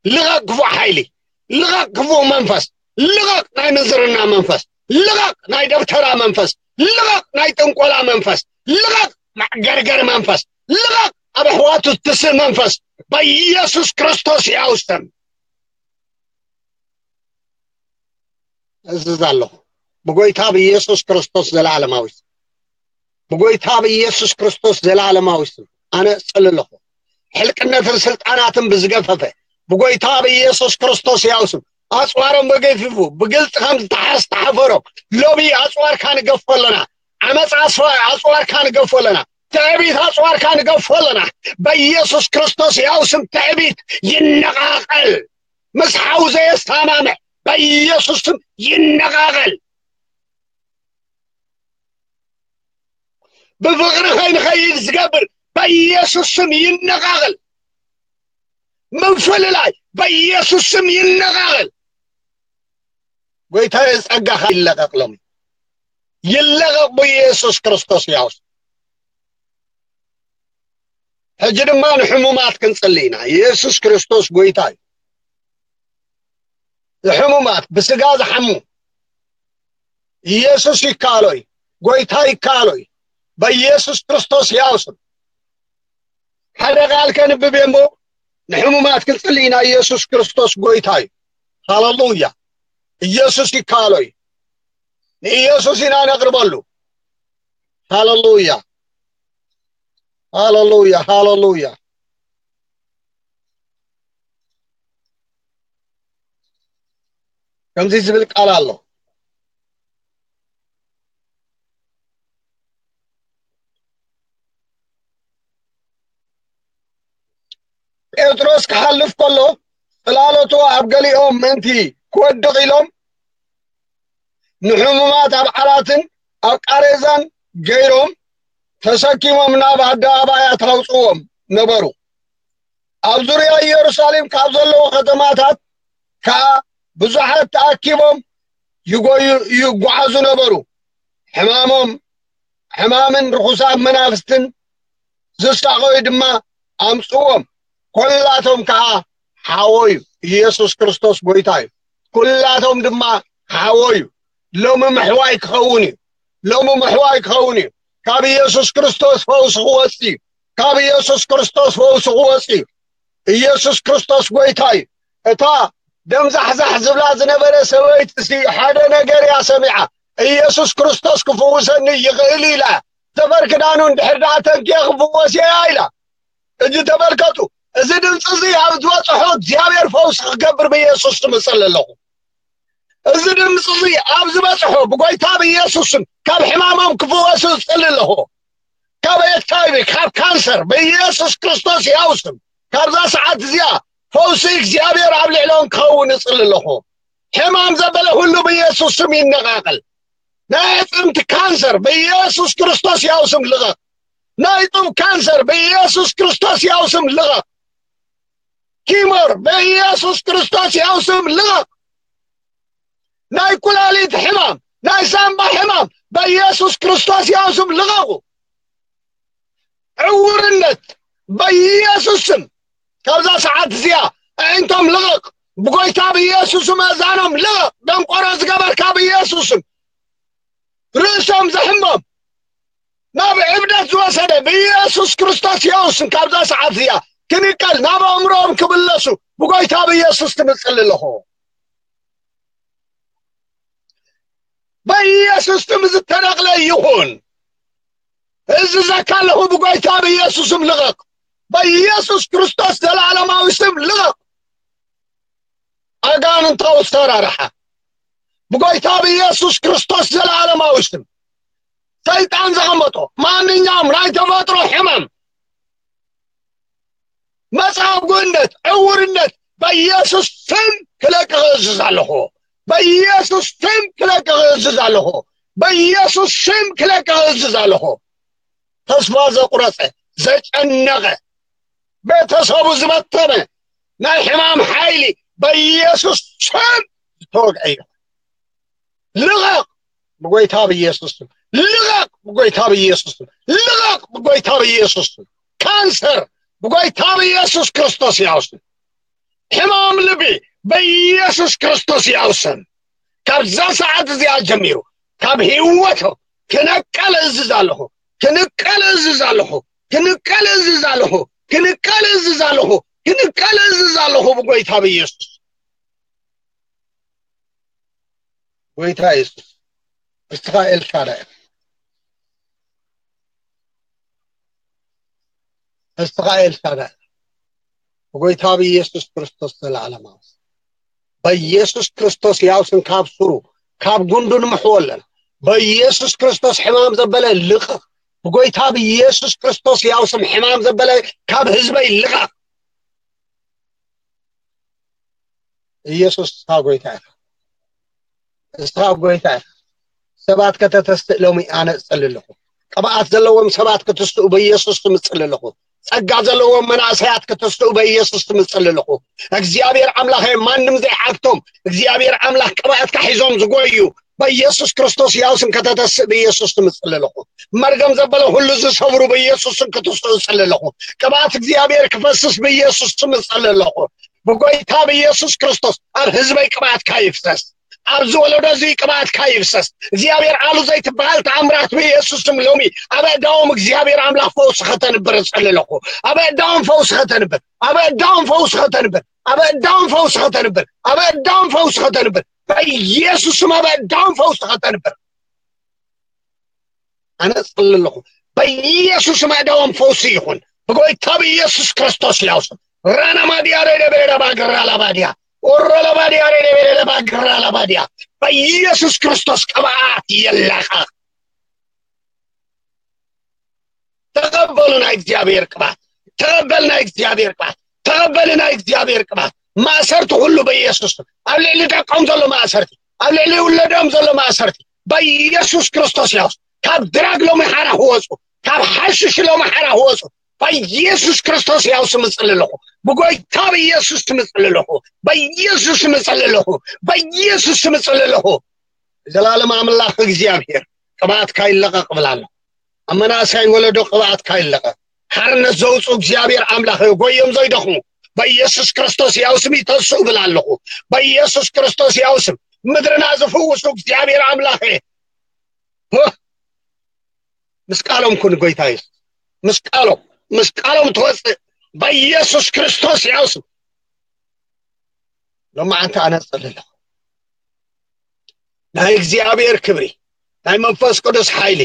ልቐቕ ክፉእ ሓይሊ፣ ልቐቕ ክፉእ መንፈስ፣ ልቐቕ ናይ ምንዝርና መንፈስ፣ ልቐቕ ናይ ደብተራ መንፈስ፣ ልቐቕ ናይ ጥንቆላ መንፈስ፣ ልቐቕ ማዕገርገር መንፈስ፣ ልቐቕ ኣብ ኣሕዋቱ ትስእ መንፈስ፣ በኢየሱስ ክርስቶስ ያው ስም እዝዝ ኣለኹ። ብጎይታ ብኢየሱስ ክርስቶስ ዘለዓለማዊ ስም፣ ብጎይታ ብኢየሱስ ክርስቶስ ዘለዓለማዊ ስም ኣነ እጽሊ ኣለኹ። ሕልቅነትን ስልጣናትን ብዝገፈፈ ብጎይታ ብኢየሱስ ክርስቶስ ያው ስም ኣጽዋሮም በገፊፉ ብግልጺ ከም ዝተሓስ ተሓፈሮም። ሎሚ ኣጽዋርካ ንገፎ ኣለና። ዓመጻ ኣጽዋ-፣ ኣጽዋርካ ንገፎ ኣለና። ትዕቢት ኣጽዋርካ ንገፎ ኣለና። በኢየሱስ ክርስቶስ ያው ስም ትዕቢት ይነቓቐል። ምስ ሓው ዘየስታማምዕ በኢየሱስ ስም ይነቓቐል። ብፍቕሪ ከይንኸይድ ዝገብር በኢየሱስ ስም ይነቓቐል። ምፍልላይ በኢየሱስ ስም ይነቓቐል። ጎይታዬ ጸጋኻ ይለቐቕ ሎሚ። ይለቐቕ ብኢየሱስ ክርስቶስ ያው ስም። ሕጂ ድማ ንሕሙማት ክንጽሊ ኢና። ኢየሱስ ክርስቶስ ጎይታ እዩ። ንሕሙማት ብስጋ ዝሓሙ ኢየሱስ ይከኣሎ እዩ። ጎይታ ይከኣሎ እዩ። በኢየሱስ ክርስቶስ ያው ስም ሓደ ቃል ከንብብ እየ እሞ ንሕሙማት ክንጽሊ ኢና። ኢየሱስ ክርስቶስ ጎይታ እዩ። ሃሌሉያ። ኢየሱስ ይከኣሎ እዩ። ንኢየሱስ ኢና ነቕርበሉ። ሃሌሉያ። ሃሌሉያ። ሃሌሉያ። ከምዚ ዝብል ቃል ኣሎ። ጴጥሮስ ክሓልፍ ከሎ ጽላሎቱ ኣብ ገሊኦም ምእንቲ ክወድቕ ኢሎም ንሕሙማት ኣብ ዓራትን ኣብ ቃሬዛን ገይሮም ተሰኪሞም ናብ ኣደባባያት ኣውጽዎም ነበሩ። ኣብ ዙርያ ኢየሩሳሌም ካብ ዘለዉ ከተማታት ከኣ ብዙሓት ተኣኪቦም ይጎዩ-፣ ይጓዓዙ ነበሩ። ሕማሞም፣ ሕማምን ርኹሳት መናፍስትን ዝሳቐዩ ድማ ኣምጽዎም። ኰላቶም ከኣ ሓወዩ። ኢየሱስ ክርስቶስ ጐይታ እዩ። ኵላቶም ድማ ሓወዩ። ሎሚ ምሕዋይ ክኸውን እዩ። ሎሚ ምሕዋይ ክኸውን እዩ። ካብ ኢየሱስ ክርስቶስ ፈውሲ ክወጽእ እዩ። ካብ ኢየሱስ ክርስቶስ ፈውሲ ክወጽእ እዩ። ኢየሱስ ክርስቶስ ጐይታ እዩ። እታ ደምዛሕዛሕ ዝብላ ዝነበረ ሰበይቲ ሲ ሓደ ነገር እያ ሰሚዓ። ኢየሱስ ክርስቶስ ክፍውሰኒ ይኽእል ኢላ። ተፈር ክዳኑ እንድሕር ደኣ ተንኪየ ክፍወስ እያ ኢላ። እጂ ተመልከቱ፣ እዚ ድምፂ እዚ ኣብ ዝበፅሖ እግዚኣብሔር ፈውሲ ክገብር ብኢየሱስ ስም እፅሊ ኣለኹ። እዚ ድምፂ እዚ ኣብ ዝበፅሖ ብጎይታ ብኢየሱስ ስም ካብ ሕማሞም ክፍወሱ እፅሊ ኣለኹ። ካብ ኤች ኣይ ቪ፣ ካብ ካንሰር ብኢየሱስ ክርስቶስ ያው ስም ካብዛ ሰዓት እዚኣ ፈውሲ እግዚኣብሔር ኣብ ልዕሎም ክኸውን እፅሊ ኣለኹ። ሕማም ዘበለ ሁሉ ብኢየሱስ ስም ይነቃቀል። ናይ ኣዕፅምቲ ካንሰር ብኢየሱስ ክርስቶስ ያው ስም ልቐቕ። ናይ ጡብ ካንሰር ብኢየሱስ ክርስቶስ ያው ስም ልቐቕ። ቲሞር ብኢየሱስ ክርስቶስ ያው ስም ልቐቕ። ናይ ኩላሊት ሕማም፣ ናይ ሳምባ ሕማም ብኢየሱስ ክርስቶስ ያው ስም ልቐቑ። ዕውርነት ብኢየሱስ ስም ካብዛ ሰዓት እዚኣ ኣዒንቶም ልቐቕ። ብጎይታ ብኢየሱስ ስም ኣእዛኖም ልቐቕ። ደንቆሮ ዝገበርካ ብኢየሱስ ስም ርእሶም ዘሕሞም ናብ ዕብደት ዝወሰደ ብኢየሱስ ክርስቶስ ያው ስም ካብዛ ሰዓት እዚኣ ክንቀል ናብ ኣእምሮኦም ክምለሱ ብጎይታ ብኢየሱስ ስም እጽሊ ኣለኹ። በኢየሱስ ስም ዝተነቕለ ይኹን። እዝዘካ ኣለኹ ብጎይታ ብኢየሱስ ስም ልቐቕ። በኢየሱስ ክርስቶስ ዘላለማዊ ስም ልቐቕ። ኣጋንንታዊ ኣሰራርሓ ብጎይታ ብኢየሱስ ክርስቶስ ዘላለማዊ ስም ሰይጣን ዘቐመጦ ማንኛውም ናይ ተፈጥሮ ሕማም፣ መጻጉዕነት፣ ዕውርነት በኢየሱስ ስም ክለቅቕ እዝዝ ኣለኹ። በኢየሱስ ስም ክለቅቕ እዝዝ ኣለኹ። በኢየሱስ ስም ክለቅቕ እዝዝ ኣለኹ። ተስፋ ዘቁረጸ፣ ዘጨነቐ፣ ቤተሰቡ ዝበተነ ናይ ሕማም ሓይሊ በኢየሱስ ስም ዝተወግዐ እዩ። ልቐቕ ብጎይታ ብኢየሱስ ስም። ልቐቕ ብጎይታ ብኢየሱስ ስም። ልቐቕ ብጎይታ ብኢየሱስ ስም። ካንሰር ብጎይታ ብኢየሱስ ክርስቶስ ያው ስም። ሕማም ልቢ በኢየሱስ ክርስቶስ ያው ስም ካብዛ ሰዓት እዚኣ ጀሚሩ ካብ ህይወቶም ክንቀል እዝዝ ኣለኹ፣ ክንቀል እዝዝ ኣለኹ፣ ክንቀል እዝዝ ኣለኹ፣ ክንቀል እዝዝ ኣለኹ፣ ክንቀል እዝዝ ኣለኹ ብጎይታ ብኢየሱስ። ጎይታ የሱስ፣ እስኻ ኤልሻዳይ ኢኻ። እስኻ ኤልሻዳይ ኢኻ። ብጎይታ ብኢየሱስ ክርስቶስ ዘለዓለማዊ ስም፣ በኢየሱስ ክርስቶስ ያው ስም ካብ ሱሩ ካብ ጉንዱ ንምሕዎ ኣለና። በኢየሱስ ክርስቶስ ሕማም ዘበለ ልቐቕ። ብጎይታ ብኢየሱስ ክርስቶስ ያው ስም ሕማም ዘበለ ካብ ህዝበይ ልቐቕ። ኢየሱስ እስኻ ጎይታ ኢኻ። እስኻ ጎይታ ኢኻ። ሰባት ከተተስእ ሎሚ ኣነ እጽሊ ኣለኹ። ቅብኣት ዘለዎም ሰባት ክትስኡ በኢየሱስ ስም እጽሊ ኣለኹ። ጸጋ ዘለዎም መናእሰያት ክትስኡ በኢየሱስ ስም እጽሊ ኣለኹ። እግዚኣብሔር ኣምላኸ፣ ማንም ዘይዓግቶም እግዚኣብሔር ኣምላኽ ቅብኣትካ ሒዞም ዝጎዩ በኢየሱስ ክርስቶስ ያው ስም ከተተስእ በኢየሱስ ስም እጽሊ ኣለኹ። መርገም ዘበለ ሁሉ ዝሰብሩ በኢየሱስ ስም ክትስኡ እጽሊ ኣለኹ። ቅብኣት እግዚኣብሔር ክፈስስ በኢየሱስ ስም እጽሊ ኣለኹ። ብጎይታ ብኢየሱስ ክርስቶስ ኣብ ህዝበይ ቅብኣትካ ይፍሰስ። ኣብዚ ወለዶ እዚ ቅብኣትካ ይፍሰስ። እግዚኣብሔር ኣሉ ዘይትበሃል ተኣምራት ብኢየሱስ ስም ሎሚ ኣብ ኣእዳዎም እግዚኣብሔር ኣምላኽ ፈውሲ ከተንብር እጸሊ ኣለኹ። ኣብ ኣእዳዎም ፈውሲ ከተንብር፣ ኣብ ኣእዳዎም ፈውሲ ከተንብር፣ ኣብ ኣእዳዎም ፈውሲ ከተንብር፣ ኣብ ኣእዳዎም ፈውሲ ከተንብር፣ በኢየሱስ ስም ኣብ ኣእዳዎም ፈውሲ ከተንብር። ኣነ እጽሊ ኣለኹ። በኢየሱስ ስም ኣእዳዎም ፈውሲ ይኹን። ብጎይታ ብኢየሱስ ክርስቶስ ያው ስም። ራና ማዲያ ሬደ ቤሬዳ ባግራ ላባዲያ። ኦሮ ላባዲያ ሬደ ቤሬዳ ባግራ ላባዲያ። በኢየሱስ ክርስቶስ ቅብኣት ይለቐቕ። ተቐበሉ ናይ እግዚኣብሔር ቅብኣት። ተቐበል ናይ እግዚኣብሔር ቅብኣት። ተቐበል ናይ እግዚኣብሔር ቅብኣት። ማእሰርቲ ሁሉ በኢየሱስ ስም። ኣብ ልዕሊ ደቆም ዘሎ ማእሰርቲ፣ ኣብ ልዕሊ ውለዶም ዘሎ ማእሰርቲ በኢየሱስ ክርስቶስ ያው ስም። ካብ ድራግ ሎሚ ሓራ ክወጹ፣ ካብ ሓሽሽ ሎሚ ሓራ ክወጹ በኢየሱስ ክርስቶስ ያው ስም እጽሊ ኣለኹ። ብጎይታ በኢየሱስ ስም እጽሊ ኣለኹ። በኢየሱስ ስም እጽሊ ኣለኹ። በኢየሱስ ስም እጽሊ ኣለኹ። ዘላለም ኣምላኽ እግዚኣብሔር ቅብኣትካ ይለቐቕ እብል ኣለኹ። ኣብ መናእሰይ ወለዶ ቅብኣትካ ይለቐቕ። ሓርነት ዘውፁ እግዚኣብሔር ኣምላኽ ጎዮም ዘይደኽሙ በኢየሱስ ክርስቶስ ያው ስም ይተስኡ እብል ኣለኹ። በኢየሱስ ክርስቶስ ያው ስም ምድርና ዝፍውሱ እግዚኣብሔር ኣምላኽ፣ ህ፣ ምስ ቃሎም ኩን ጎይታ የሱስ። ምስ ቃሎም፣ ምስ ቃሎም ትወፅእ በኢየሱስ ክርስቶስ ያው ስም። ሎማዓንቲ ኣነ እጸሊ ኣለኹ። ናይ እግዚኣብሔር ክብሪ፣ ናይ መንፈስ ቅዱስ ሓይሊ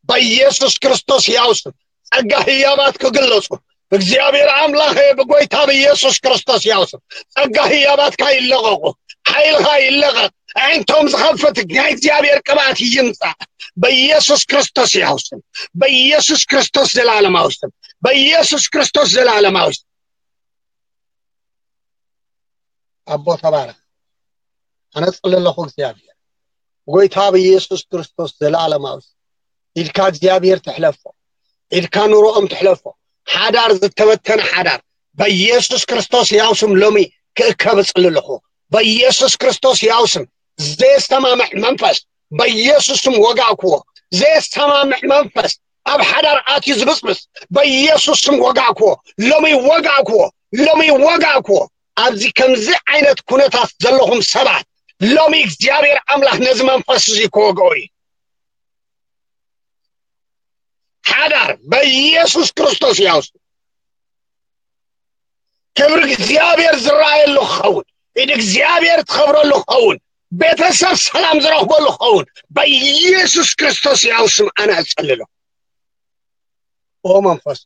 በኢየሱስ ክርስቶስ ያው ስም ጸጋ ህያባት ክግለጹ፣ እግዚኣብሔር ኣምላኸ ብጎይታ ብኢየሱስ ክርስቶስ ያው ስም ጸጋ ህያባትካ ይለቐቑ፣ ሓይልኻ ይለቐቕ። ኣዒንቶም ዝኸፍት ናይ እግዚኣብሔር ቅብኣት ይምጻእ በኢየሱስ ክርስቶስ ያው ስም፣ በኢየሱስ ክርስቶስ ዘላለማዊ ስም፣ በኢየሱስ ክርስቶስ ዘላለማዊ ስም። ኣቦ ተባረኽ። ኣነ እጽሊ ኣለኹ እግዚኣብሔር፣ ብጎይታ ብኢየሱስ ክርስቶስ ዘለኣለማዊ ስም፣ ኢድካ እግዚኣብሔር ትሕለፎ፣ ኢድካ ኑሮኦም ትሕለፎ። ሓዳር፣ ዝተበተነ ሓዳር በኢየሱስ ክርስቶስ ያው ስም ሎሚ ክእከብ እጽሊ ኣለኹ። በኢየሱስ ክርስቶስ ያው ስም ዘየስተማምዕ መንፈስ በኢየሱስ ስም ወጋእክዎ። ዘየስተማምዕ መንፈስ ኣብ ሓዳር ኣትዩ ዝብጽብጽ በኢየሱስ ስም ወጋእክዎ። ሎሚ ወጋእክዎ። ሎሚ ወጋእክዎ። ኣብዚ ከምዚ ዓይነት ኩነታት ዘለኹም ሰባት ሎሚ እግዚኣብሔር ኣምላኽ ነዚ መንፈስ እዚ ክወግኦ እዩ። ሓዳር በኢየሱስ ክርስቶስ ያው ስም ክብሪ እግዚኣብሔር ዝረኣየሉ ክኸውን፣ ኢድ እግዚኣብሔር ትኸብረሉ ክኸውን፣ ቤተሰብ ሰላም ዝረኽበሉ ክኸውን በኢየሱስ ክርስቶስ ያው ስም ኣነ እጸልሎ። ኦ መንፈስ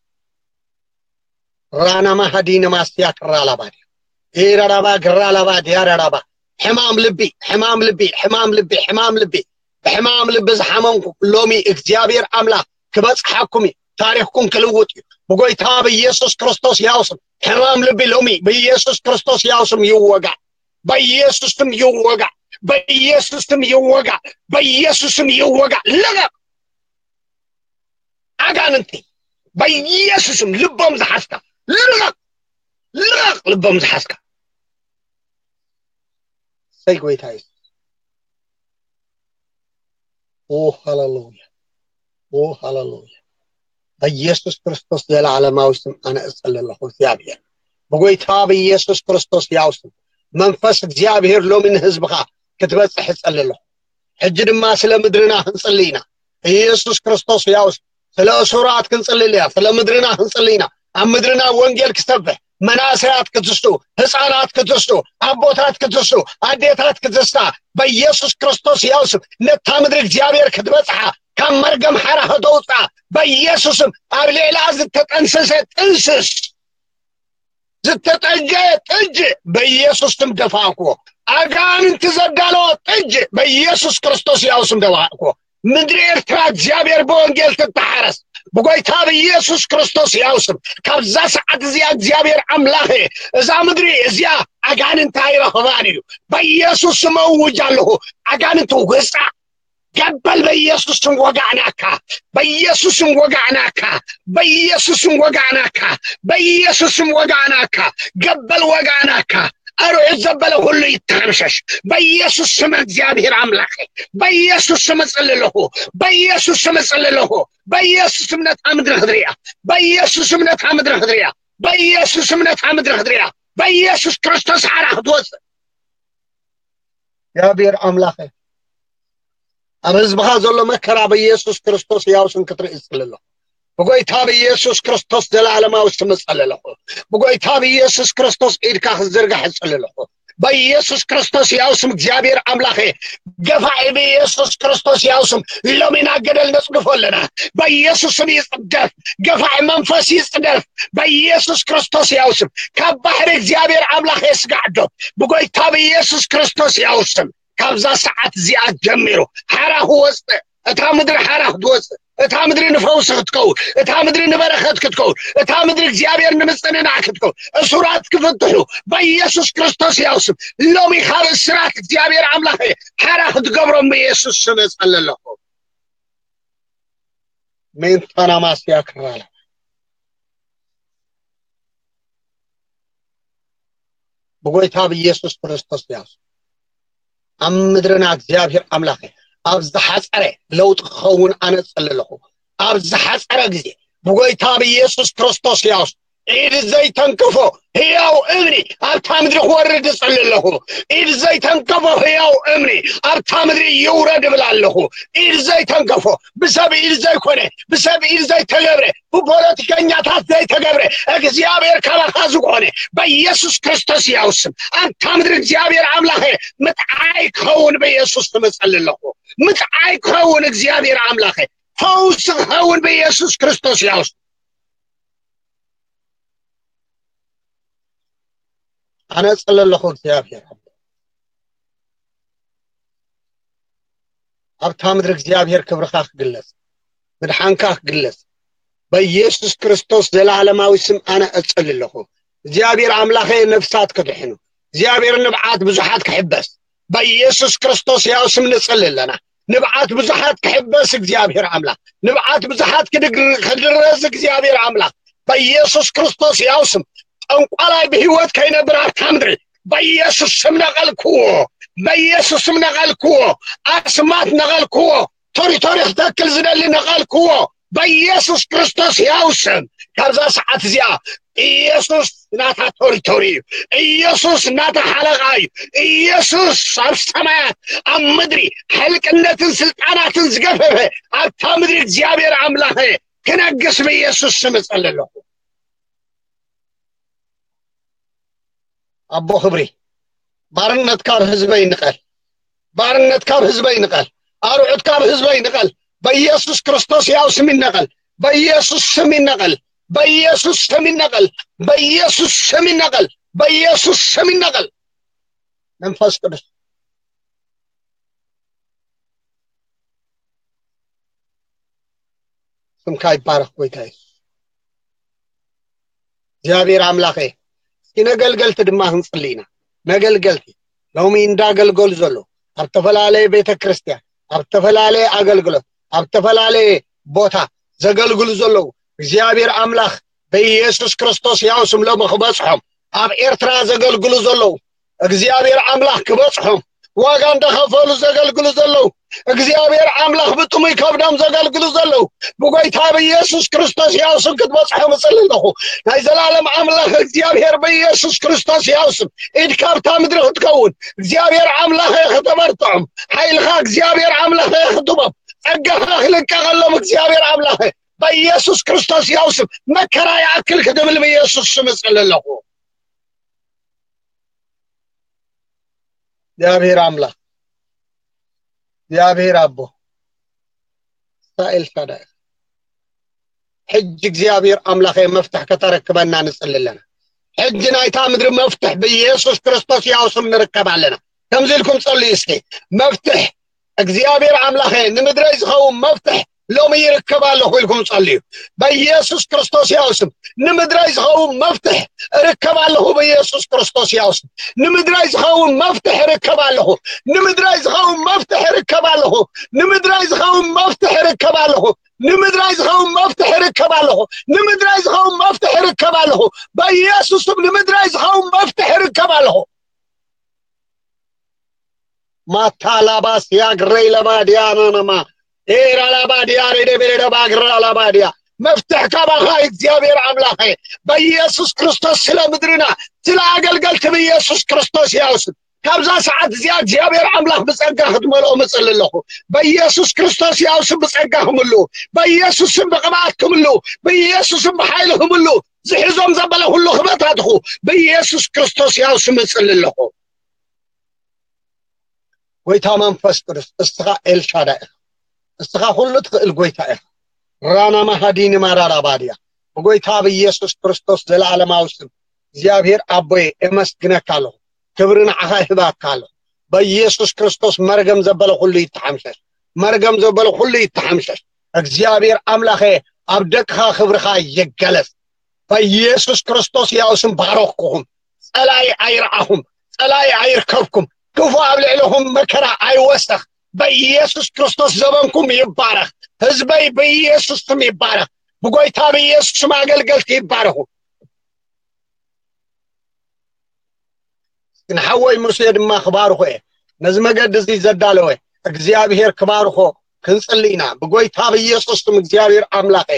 ራና ማሃዲ ነማስትያ ክራላባ ድያ ኤራራባ ግራላባ ድያራራባ ሕማም ልቢ፣ ሕማም ልቢ፣ ሕማም ልቢ፣ ሕማም ልቢ፣ ብሕማም ልቢ ዝሓመምኩ ሎሚ እግዚኣብሔር ኣምላኽ ክበጽሓኩም እዩ። ታሪኽኩም ክልውጥ እዩ። ብጎይታ ብኢየሱስ ክርስቶስ ያው ስም ሕማም ልቢ ሎሚ ብኢየሱስ ክርስቶስ ያው ስም ይወጋእ። በኢየሱስ ስም ይወጋእ። በኢየሱስ ስም ይወጋእ። በኢየሱስ ስም ይወጋእ። ልቐቕ። ኣጋንንቲ በኢየሱስም ልቦም ዝሓዝካ ልቐቕ፣ ልቐቕ ልቦም ዝሓዝካ። ሰይ ጎይታ የሱስ። ኦ ሃሌሉያ፣ ኦ ሃሌሉያ። በኢየሱስ ክርስቶስ ዘለዓለማዊ ስም ኣነ እጸሊ ኣለኹ እግዚኣብሔር፣ ብጎይታ ብኢየሱስ ክርስቶስ ያው ስም መንፈስ እግዚኣብሔር ሎሚ ንህዝብኻ ክትበጽሕ እጸሊ ኣለኹ። ሕጂ ድማ ስለ ምድርና ክንጽሊ ኢና። ኢየሱስ ክርስቶስ ያውስ ስለ እሱራት ክንጽሊ ኣለና። ስለ ምድርና ክንጽሊ ኢና። ኣብ ምድርና ወንጌል ክሰፍሕ፣ መናእሰያት ክትስቱ፣ ህፃናት ክትስቱ፣ ኣቦታት ክትስቱ፣ ኣዴታት ክትስታ፣ በኢየሱስ ክርስቶስ ያውስም ነታ ምድሪ እግዚኣብሔር ክትበጽሓ፣ ካብ መርገም ሓራ ከተውፅኣ፣ በኢየሱስም ኣብ ሌላ ዝተጠንሰሰ ጥንስስ ዝተጠጀ ጥጅ በኢየሱስ ስም ደፋእኩዎ። ኣጋንንቲ ዘዳለዎ ጥጅ በኢየሱስ ክርስቶስ ያው ስም ደፋእኩዎ። ምድሪ ኤርትራ እግዚኣብሔር ብወንጌል ትተሓረስ። ብጎይታ ብኢየሱስ ክርስቶስ ያው ስም ካብዛ ሰዓት እዚኣ እግዚኣብሔር ኣምላኸ እዛ ምድሪ እዚኣ ኣጋንንቲ ኣይረኽባን እዩ። በኢየሱስ ስም እውጅ ኣለኹ። ኣጋንንቲ ውፃእ። ገበል በኢየሱስ ስም ወጋእናካ። በኢየሱስ ስም ወጋእናካ። በኢየሱስ ስም ወጋእናካ። በኢየሱስ ስም ወጋእናካ። ገበል ወጋእናካ። ኣርዑት ዘበለ ሁሉ ይተሓምሸሽ በኢየሱስ ስም። እግዚኣብሔር ኣምላኸ በኢየሱስ ስም እጽሊ ኣለኹ። በኢየሱስ ስም እጽሊ ኣለኹ። በኢየሱስ ስም ነታ ምድሪ ክትርእያ። በኢየሱስ ስም ነታ ምድሪ ክትርእያ። በኢየሱስ ስም ነታ ምድሪ ክትርእያ። በኢየሱስ ክርስቶስ ሓራ ክትወፅእ። እግዚኣብሔር ኣምላኸ ኣብ ህዝብኻ ዘሎ መከራ ብኢየሱስ ክርስቶስ ያው ስም ክትርኢ እጽሊ ኣለኹ። ብጎይታ ብኢየሱስ ክርስቶስ ዘላለማዊ ስም እጸሊ ኣለኹ። ብጎይታ ብኢየሱስ ክርስቶስ ኢድካ ክትዝርጋሕ እጸሊ ኣለኹ። በኢየሱስ ክርስቶስ ያው ስም እግዚኣብሔር ኣምላኸ ገፋዒ ብኢየሱስ ክርስቶስ ያው ስም ሎሚ ናብ ገደል ነጽድፎ ኣለና። በኢየሱስ ስም ይጽደፍ። ገፋዒ መንፈስ ይጽደፍ። በኢየሱስ ክርስቶስ ያው ስም ካብ ባሕሪ እግዚኣብሔር ኣምላኸ የስጋዕዶ። ብጎይታ ብኢየሱስ ክርስቶስ ያው ስም ካብዛ ሰዓት እዚኣ ጀሚሩ ሓራ ክወፅእ፣ እታ ምድሪ ሓራ ክትወፅእ፣ እታ ምድሪ ንፈውሲ ክትከውን፣ እታ ምድሪ ንበረኸት ክትከውን፣ እታ ምድሪ እግዚኣብሔር ንምፅንናዕ ክትከውን፣ እሱራት ክፍትሑ በኢየሱስ ክርስቶስ ያው ስም ሎሚ ካብ እስራት እግዚኣብሔር ኣምላኸ ሓራ ክትገብሮም ብኢየሱስ ስም እጸሊ ኣለኹ። ሜንታናማስያ ክራላ ብጎይታ ብኢየሱስ ክርስቶስ ያው ስም ኣብ ምድርና እግዚኣብሔር ኣምላኸ ኣብ ዝሓፀረ ለውጢ ክኸውን ኣነ እጸሊ ኣለኹ። ኣብ ዝሓፀረ ግዜ ብጎይታ ብኢየሱስ ክርስቶስ ያው ስም ኢድ ዘይተንክፎ ህያው እምኒ ኣብታ ምድሪ ክወርድ እጸሊ ኣለኹ። ኢድ ዘይተንከፎ ህያው እምኒ ኣብታ ምድሪ ይውረድ እብል ኣለኹ። ኢድ ዘይተንከፎ ብሰብ ኢድ ዘይኮነ ብሰብ ኢድ ዘይተገብረ ብፖለቲከኛታት ዘይተገብረ እግዚኣብሔር ካባኻ ዝኾነ በኢየሱስ ክርስቶስ ያው ስም ኣብታ ምድሪ እግዚኣብሔር ኣምላኸ ምጥዓይ ክኸውን በኢየሱስ ስም እጸሊ ኣለኹ። ምጥዓይ ክኸውን እግዚኣብሔር ኣምላኸ ፈውሲ ክኸውን በኢየሱስ ክርስቶስ ያው ስም ኣነ እጸሊ ኣለኹ እግዚኣብሔር ኣብታ ምድሪ እግዚኣብሔር ክብርኻ ክግለጽ ምድሓንካ ክግለጽ በኢየሱስ ክርስቶስ ዘላለማዊ ስም ኣነ እጸሊ ኣለኹ። እግዚኣብሔር ኣምላኸ ነፍሳት ክድሕኑ እግዚኣብሔር ንብዓት ብዙሓት ክሕበስ በኢየሱስ ክርስቶስ ያው ስም ንጸሊ ኣለና። ንብዓት ብዙሓት ክሕበስ እግዚኣብሔር ኣምላኽ ንብዓት ብዙሓት ክድረስ እግዚኣብሔር ኣምላኽ በኢየሱስ ክርስቶስ ያው ስም ጠንቋላይ ብህይወት ከይነብር ኣብታ ምድሪ በኢየሱስ ስም ነቐልክዎ። በኢየሱስ ስም ነቐልክዎ። ኣስማት ነቐልክዎ። ቶሪቶሪ ክተክል ዝደሊ ነቐልክዎ። በኢየሱስ ክርስቶስ ያው ስም ካብዛ ሰዓት እዚኣ ኢየሱስ ናታ ቶሪቶሪ እዩ። ኢየሱስ ናታ ሓለቓ እዩ። ኢየሱስ ኣብ ሰማያት ኣብ ምድሪ ሕልቅነትን ስልጣናትን ዝገፈፈ ኣብታ ምድሪ እግዚኣብሔር ኣምላኸ ክነግስ ብኢየሱስ ስም እጸሊ ኣለኹ። ኣቦ ክብሪ ባርነት ካብ ህዝበይ ንቐል። ባርነት ካብ ህዝበይ ንቐል። ኣርዑት ካብ ህዝበይ ንቐል። በኢየሱስ ክርስቶስ ያው ስም ይነቐል። በኢየሱስ ስም ይነቐል። በኢየሱስ ስም ይነቐል። በኢየሱስ ስም ይነቐል። በኢየሱስ ስም ይነቐል። መንፈስ ቅዱስ ስምካ ይባረኽ ጎይታ የሱስ። እግዚኣብሔር ኣምላኸ እስኪ ነገልገልቲ ድማ ክንጽሊ ኢና። ነገልገልቲ ሎሚ እንዳገልገሉ ዘለዉ ኣብ ዝተፈላለየ ቤተ ክርስቲያን ኣብ ዝተፈላለየ ኣገልግሎት ኣብ ዝተፈላለየ ቦታ ዘገልግሉ ዘለዉ እግዚኣብሔር ኣምላኽ በኢየሱስ ክርስቶስ ያው ስም ሎሚ ክበጽሖም ኣብ ኤርትራ ዘገልግሉ ዘለዉ እግዚኣብሔር ኣምላኽ ክበጽሖም ዋጋ እንዳኸፈሉ ዘገልግሉ ዘለዉ፣ እግዚኣብሔር ኣምላኽ ብጥሙይ ከብዶም ዘገልግሉ ዘለዉ፣ ብጎይታ ብኢየሱስ ክርስቶስ ያው ስም ክትበጽሖም እጽሊ ኣለኹ። ናይ ዘላለም ኣምላኽ እግዚኣብሔር ብኢየሱስ ክርስቶስ ያው ስም ኢድካ ኣብታ ምድሪ ክትከውን እግዚኣብሔር ኣምላኽ ከተበርትዖም፣ ሓይልኻ እግዚኣብሔር ኣምላኽ ክህቦም፣ ጸጋኻ ክልቀቐሎም እግዚኣብሔር ኣምላኽ በኢየሱስ ክርስቶስ ያው ስም መከራ ይኣክል ክትብል ብኢየሱስ ስም እጽሊ ኣለኹ። እግዚኣብሔር ኣምላኽ፣ እግዚኣብሔር ኣቦ፣ እስራኤል ሻዳይ፣ ሕጂ እግዚኣብሔር ኣምላኸ መፍትሕ ከተረክበና ንጽሊ ኣለና። ሕጂ ናይታ ምድሪ መፍትሕ ብኢየሱስ ክርስቶስ ያው ስም ንርከብ ኣለና። ከምዚ ኢልኩም ጸልዩ እስኪ። መፍትሕ እግዚኣብሔር ኣምላኸ ንምድረይ ዝኸውን መፍትሕ ሎሚ ይርከብ ኣለኹ ኢልኩም ጸልዩ። በኢየሱስ ክርስቶስ ያው ስም ንምድረይ ዝኸውን መፍትሕ እርከብ ኣለኹ። በኢየሱስ ክርስቶስ ያው ስም ንምድረይ ዝኸውን መፍትሕ እርከብ ኣለኹ። ንምድረይ ዝኸውን መፍትሕ እርከብ ኣለኹ። ንምድረይ ዝኸውን መፍትሕ እርከብ ኣለኹ። ንምድረይ ዝኸውን መፍትሕ እርከብ ኣለኹ። ንምድረይ ዝኸውን መፍትሕ እርከብ ኣለኹ። በኢየሱስ ስም ንምድረይ ዝኸውን መፍትሕ እርከብ ኣለኹ። ማታ ላባስ ያግረይ ለባድያ ናናማ ኤራ ላባድያ ሬደ ቤሬደ ባግራ ላባድያ። መፍትሕ ካባኻ እግዚኣብሔር ኣምላኸ፣ በኢየሱስ ክርስቶስ ስለ ምድርና፣ ስለ ኣገልገልቲ ብኢየሱስ ክርስቶስ ያው ስም ካብዛ ሰዓት እዚኣ እግዚኣብሔር ኣምላኽ ብጸጋ ክትመልኦ ምጽሊ ኣለኹ። በኢየሱስ ክርስቶስ ያው ስም ብጸጋ ክምሉ፣ በኢየሱስ ስም ብቕብኣት ክምሉ፣ በኢየሱስ ስም ብሓይሊ ክምሉ፣ ዝሕዞም ዘበለ ኩሉ ክበታትኹ ብኢየሱስ ክርስቶስ ያው ስም እጽሊ ኣለኹ። ጎይታ መንፈስ ቅዱስ፣ እስኻ ኤልሻዳይ ኢኻ። እስኻ ኩሉ ትኽእል ጎይታ ኢኻ። ራና ማሃዲኒ ማራራ ባድያ። ብጎይታ ብኢየሱስ ክርስቶስ ዘለዓለማዊ ስም እግዚኣብሔር ኣቦየ፣ እመስግነካ ኣለኹ። ክብሪ ንዓኻ ይህባካ ኣለኹ። በኢየሱስ ክርስቶስ መርገም ዘበለ ኩሉ ይተሓምሸሽ። መርገም ዘበለ ኩሉ ይተሓምሸሽ። እግዚኣብሔር ኣምላኸ፣ ኣብ ደቅኻ ክብርኻ ይገለጽ። በኢየሱስ ክርስቶስ ያው ስም ባረኽኩኹም። ጸላኢ ኣይረኣኹም፣ ጸላኢ ኣይርከብኩም፣ ክፉ ኣብ ልዕለኹም መከራ ኣይወሰኽ። በኢየሱስ ክርስቶስ ዘበንኩም ይባረኽ። ህዝበይ ብኢየሱስ ስም ይባረኽ። ብጎይታ ብኢየሱስ ስም ኣገልገልቲ ይባረኹ። ንሓወይ ሙሴ ድማ ክባርኾ እየ። ነዚ መገዲ እዚ ዘዳለወ እግዚኣብሔር ክባርኾ ክንጽሊ ኢና። ብጎይታ ብኢየሱስ ስም እግዚኣብሔር ኣምላኸ፣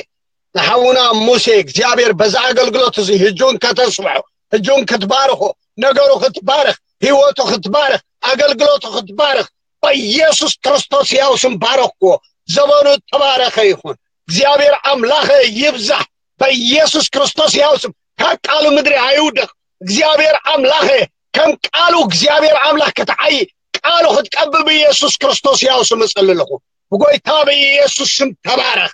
ንሓውና ሙሴ እግዚኣብሔር በዛ ኣገልግሎት እዚ ህጁን ከተስብሖ፣ ህጁን ክትባርኾ፣ ነገሩ ክትባረኽ፣ ህይወቱ ክትባረኽ፣ ኣገልግሎቱ ክትባረኽ፣ በኢየሱስ ክርስቶስ ያው ስም ባረኽዎ። ዘመኑ ተባረኸ ይኹን። እግዚኣብሔር ኣምላኸ ይብዛሕ። በኢየሱስ ክርስቶስ ያው ስም ካብ ቃሉ ምድሪ ኣይውደቕ። እግዚኣብሔር ኣምላኸ ከም ቃሉ እግዚኣብሔር ኣምላኽ ክትዓይ ቃሉ ክትቀብ ብኢየሱስ ክርስቶስ ያው ስም እጽሊ ኣለኹ። ብጎይታ ብኢየሱስ ስም ተባረኽ።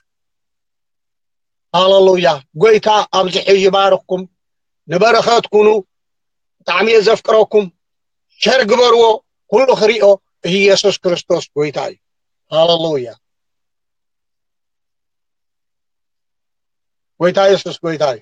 ሃሌሉያ። ጎይታ ኣብዚሑ ይባርኽኩም። ንበረኸት ኩኑ። ብጣዕሚ እየ ዘፍቅረኩም። ሸር ግበርዎ። ኩሉ ክሪኦ ኢየሱስ ክርስቶስ ጎይታ እዩ። ሃሌሉያ። ጎይታ የሱስ ጎይታ እዩ።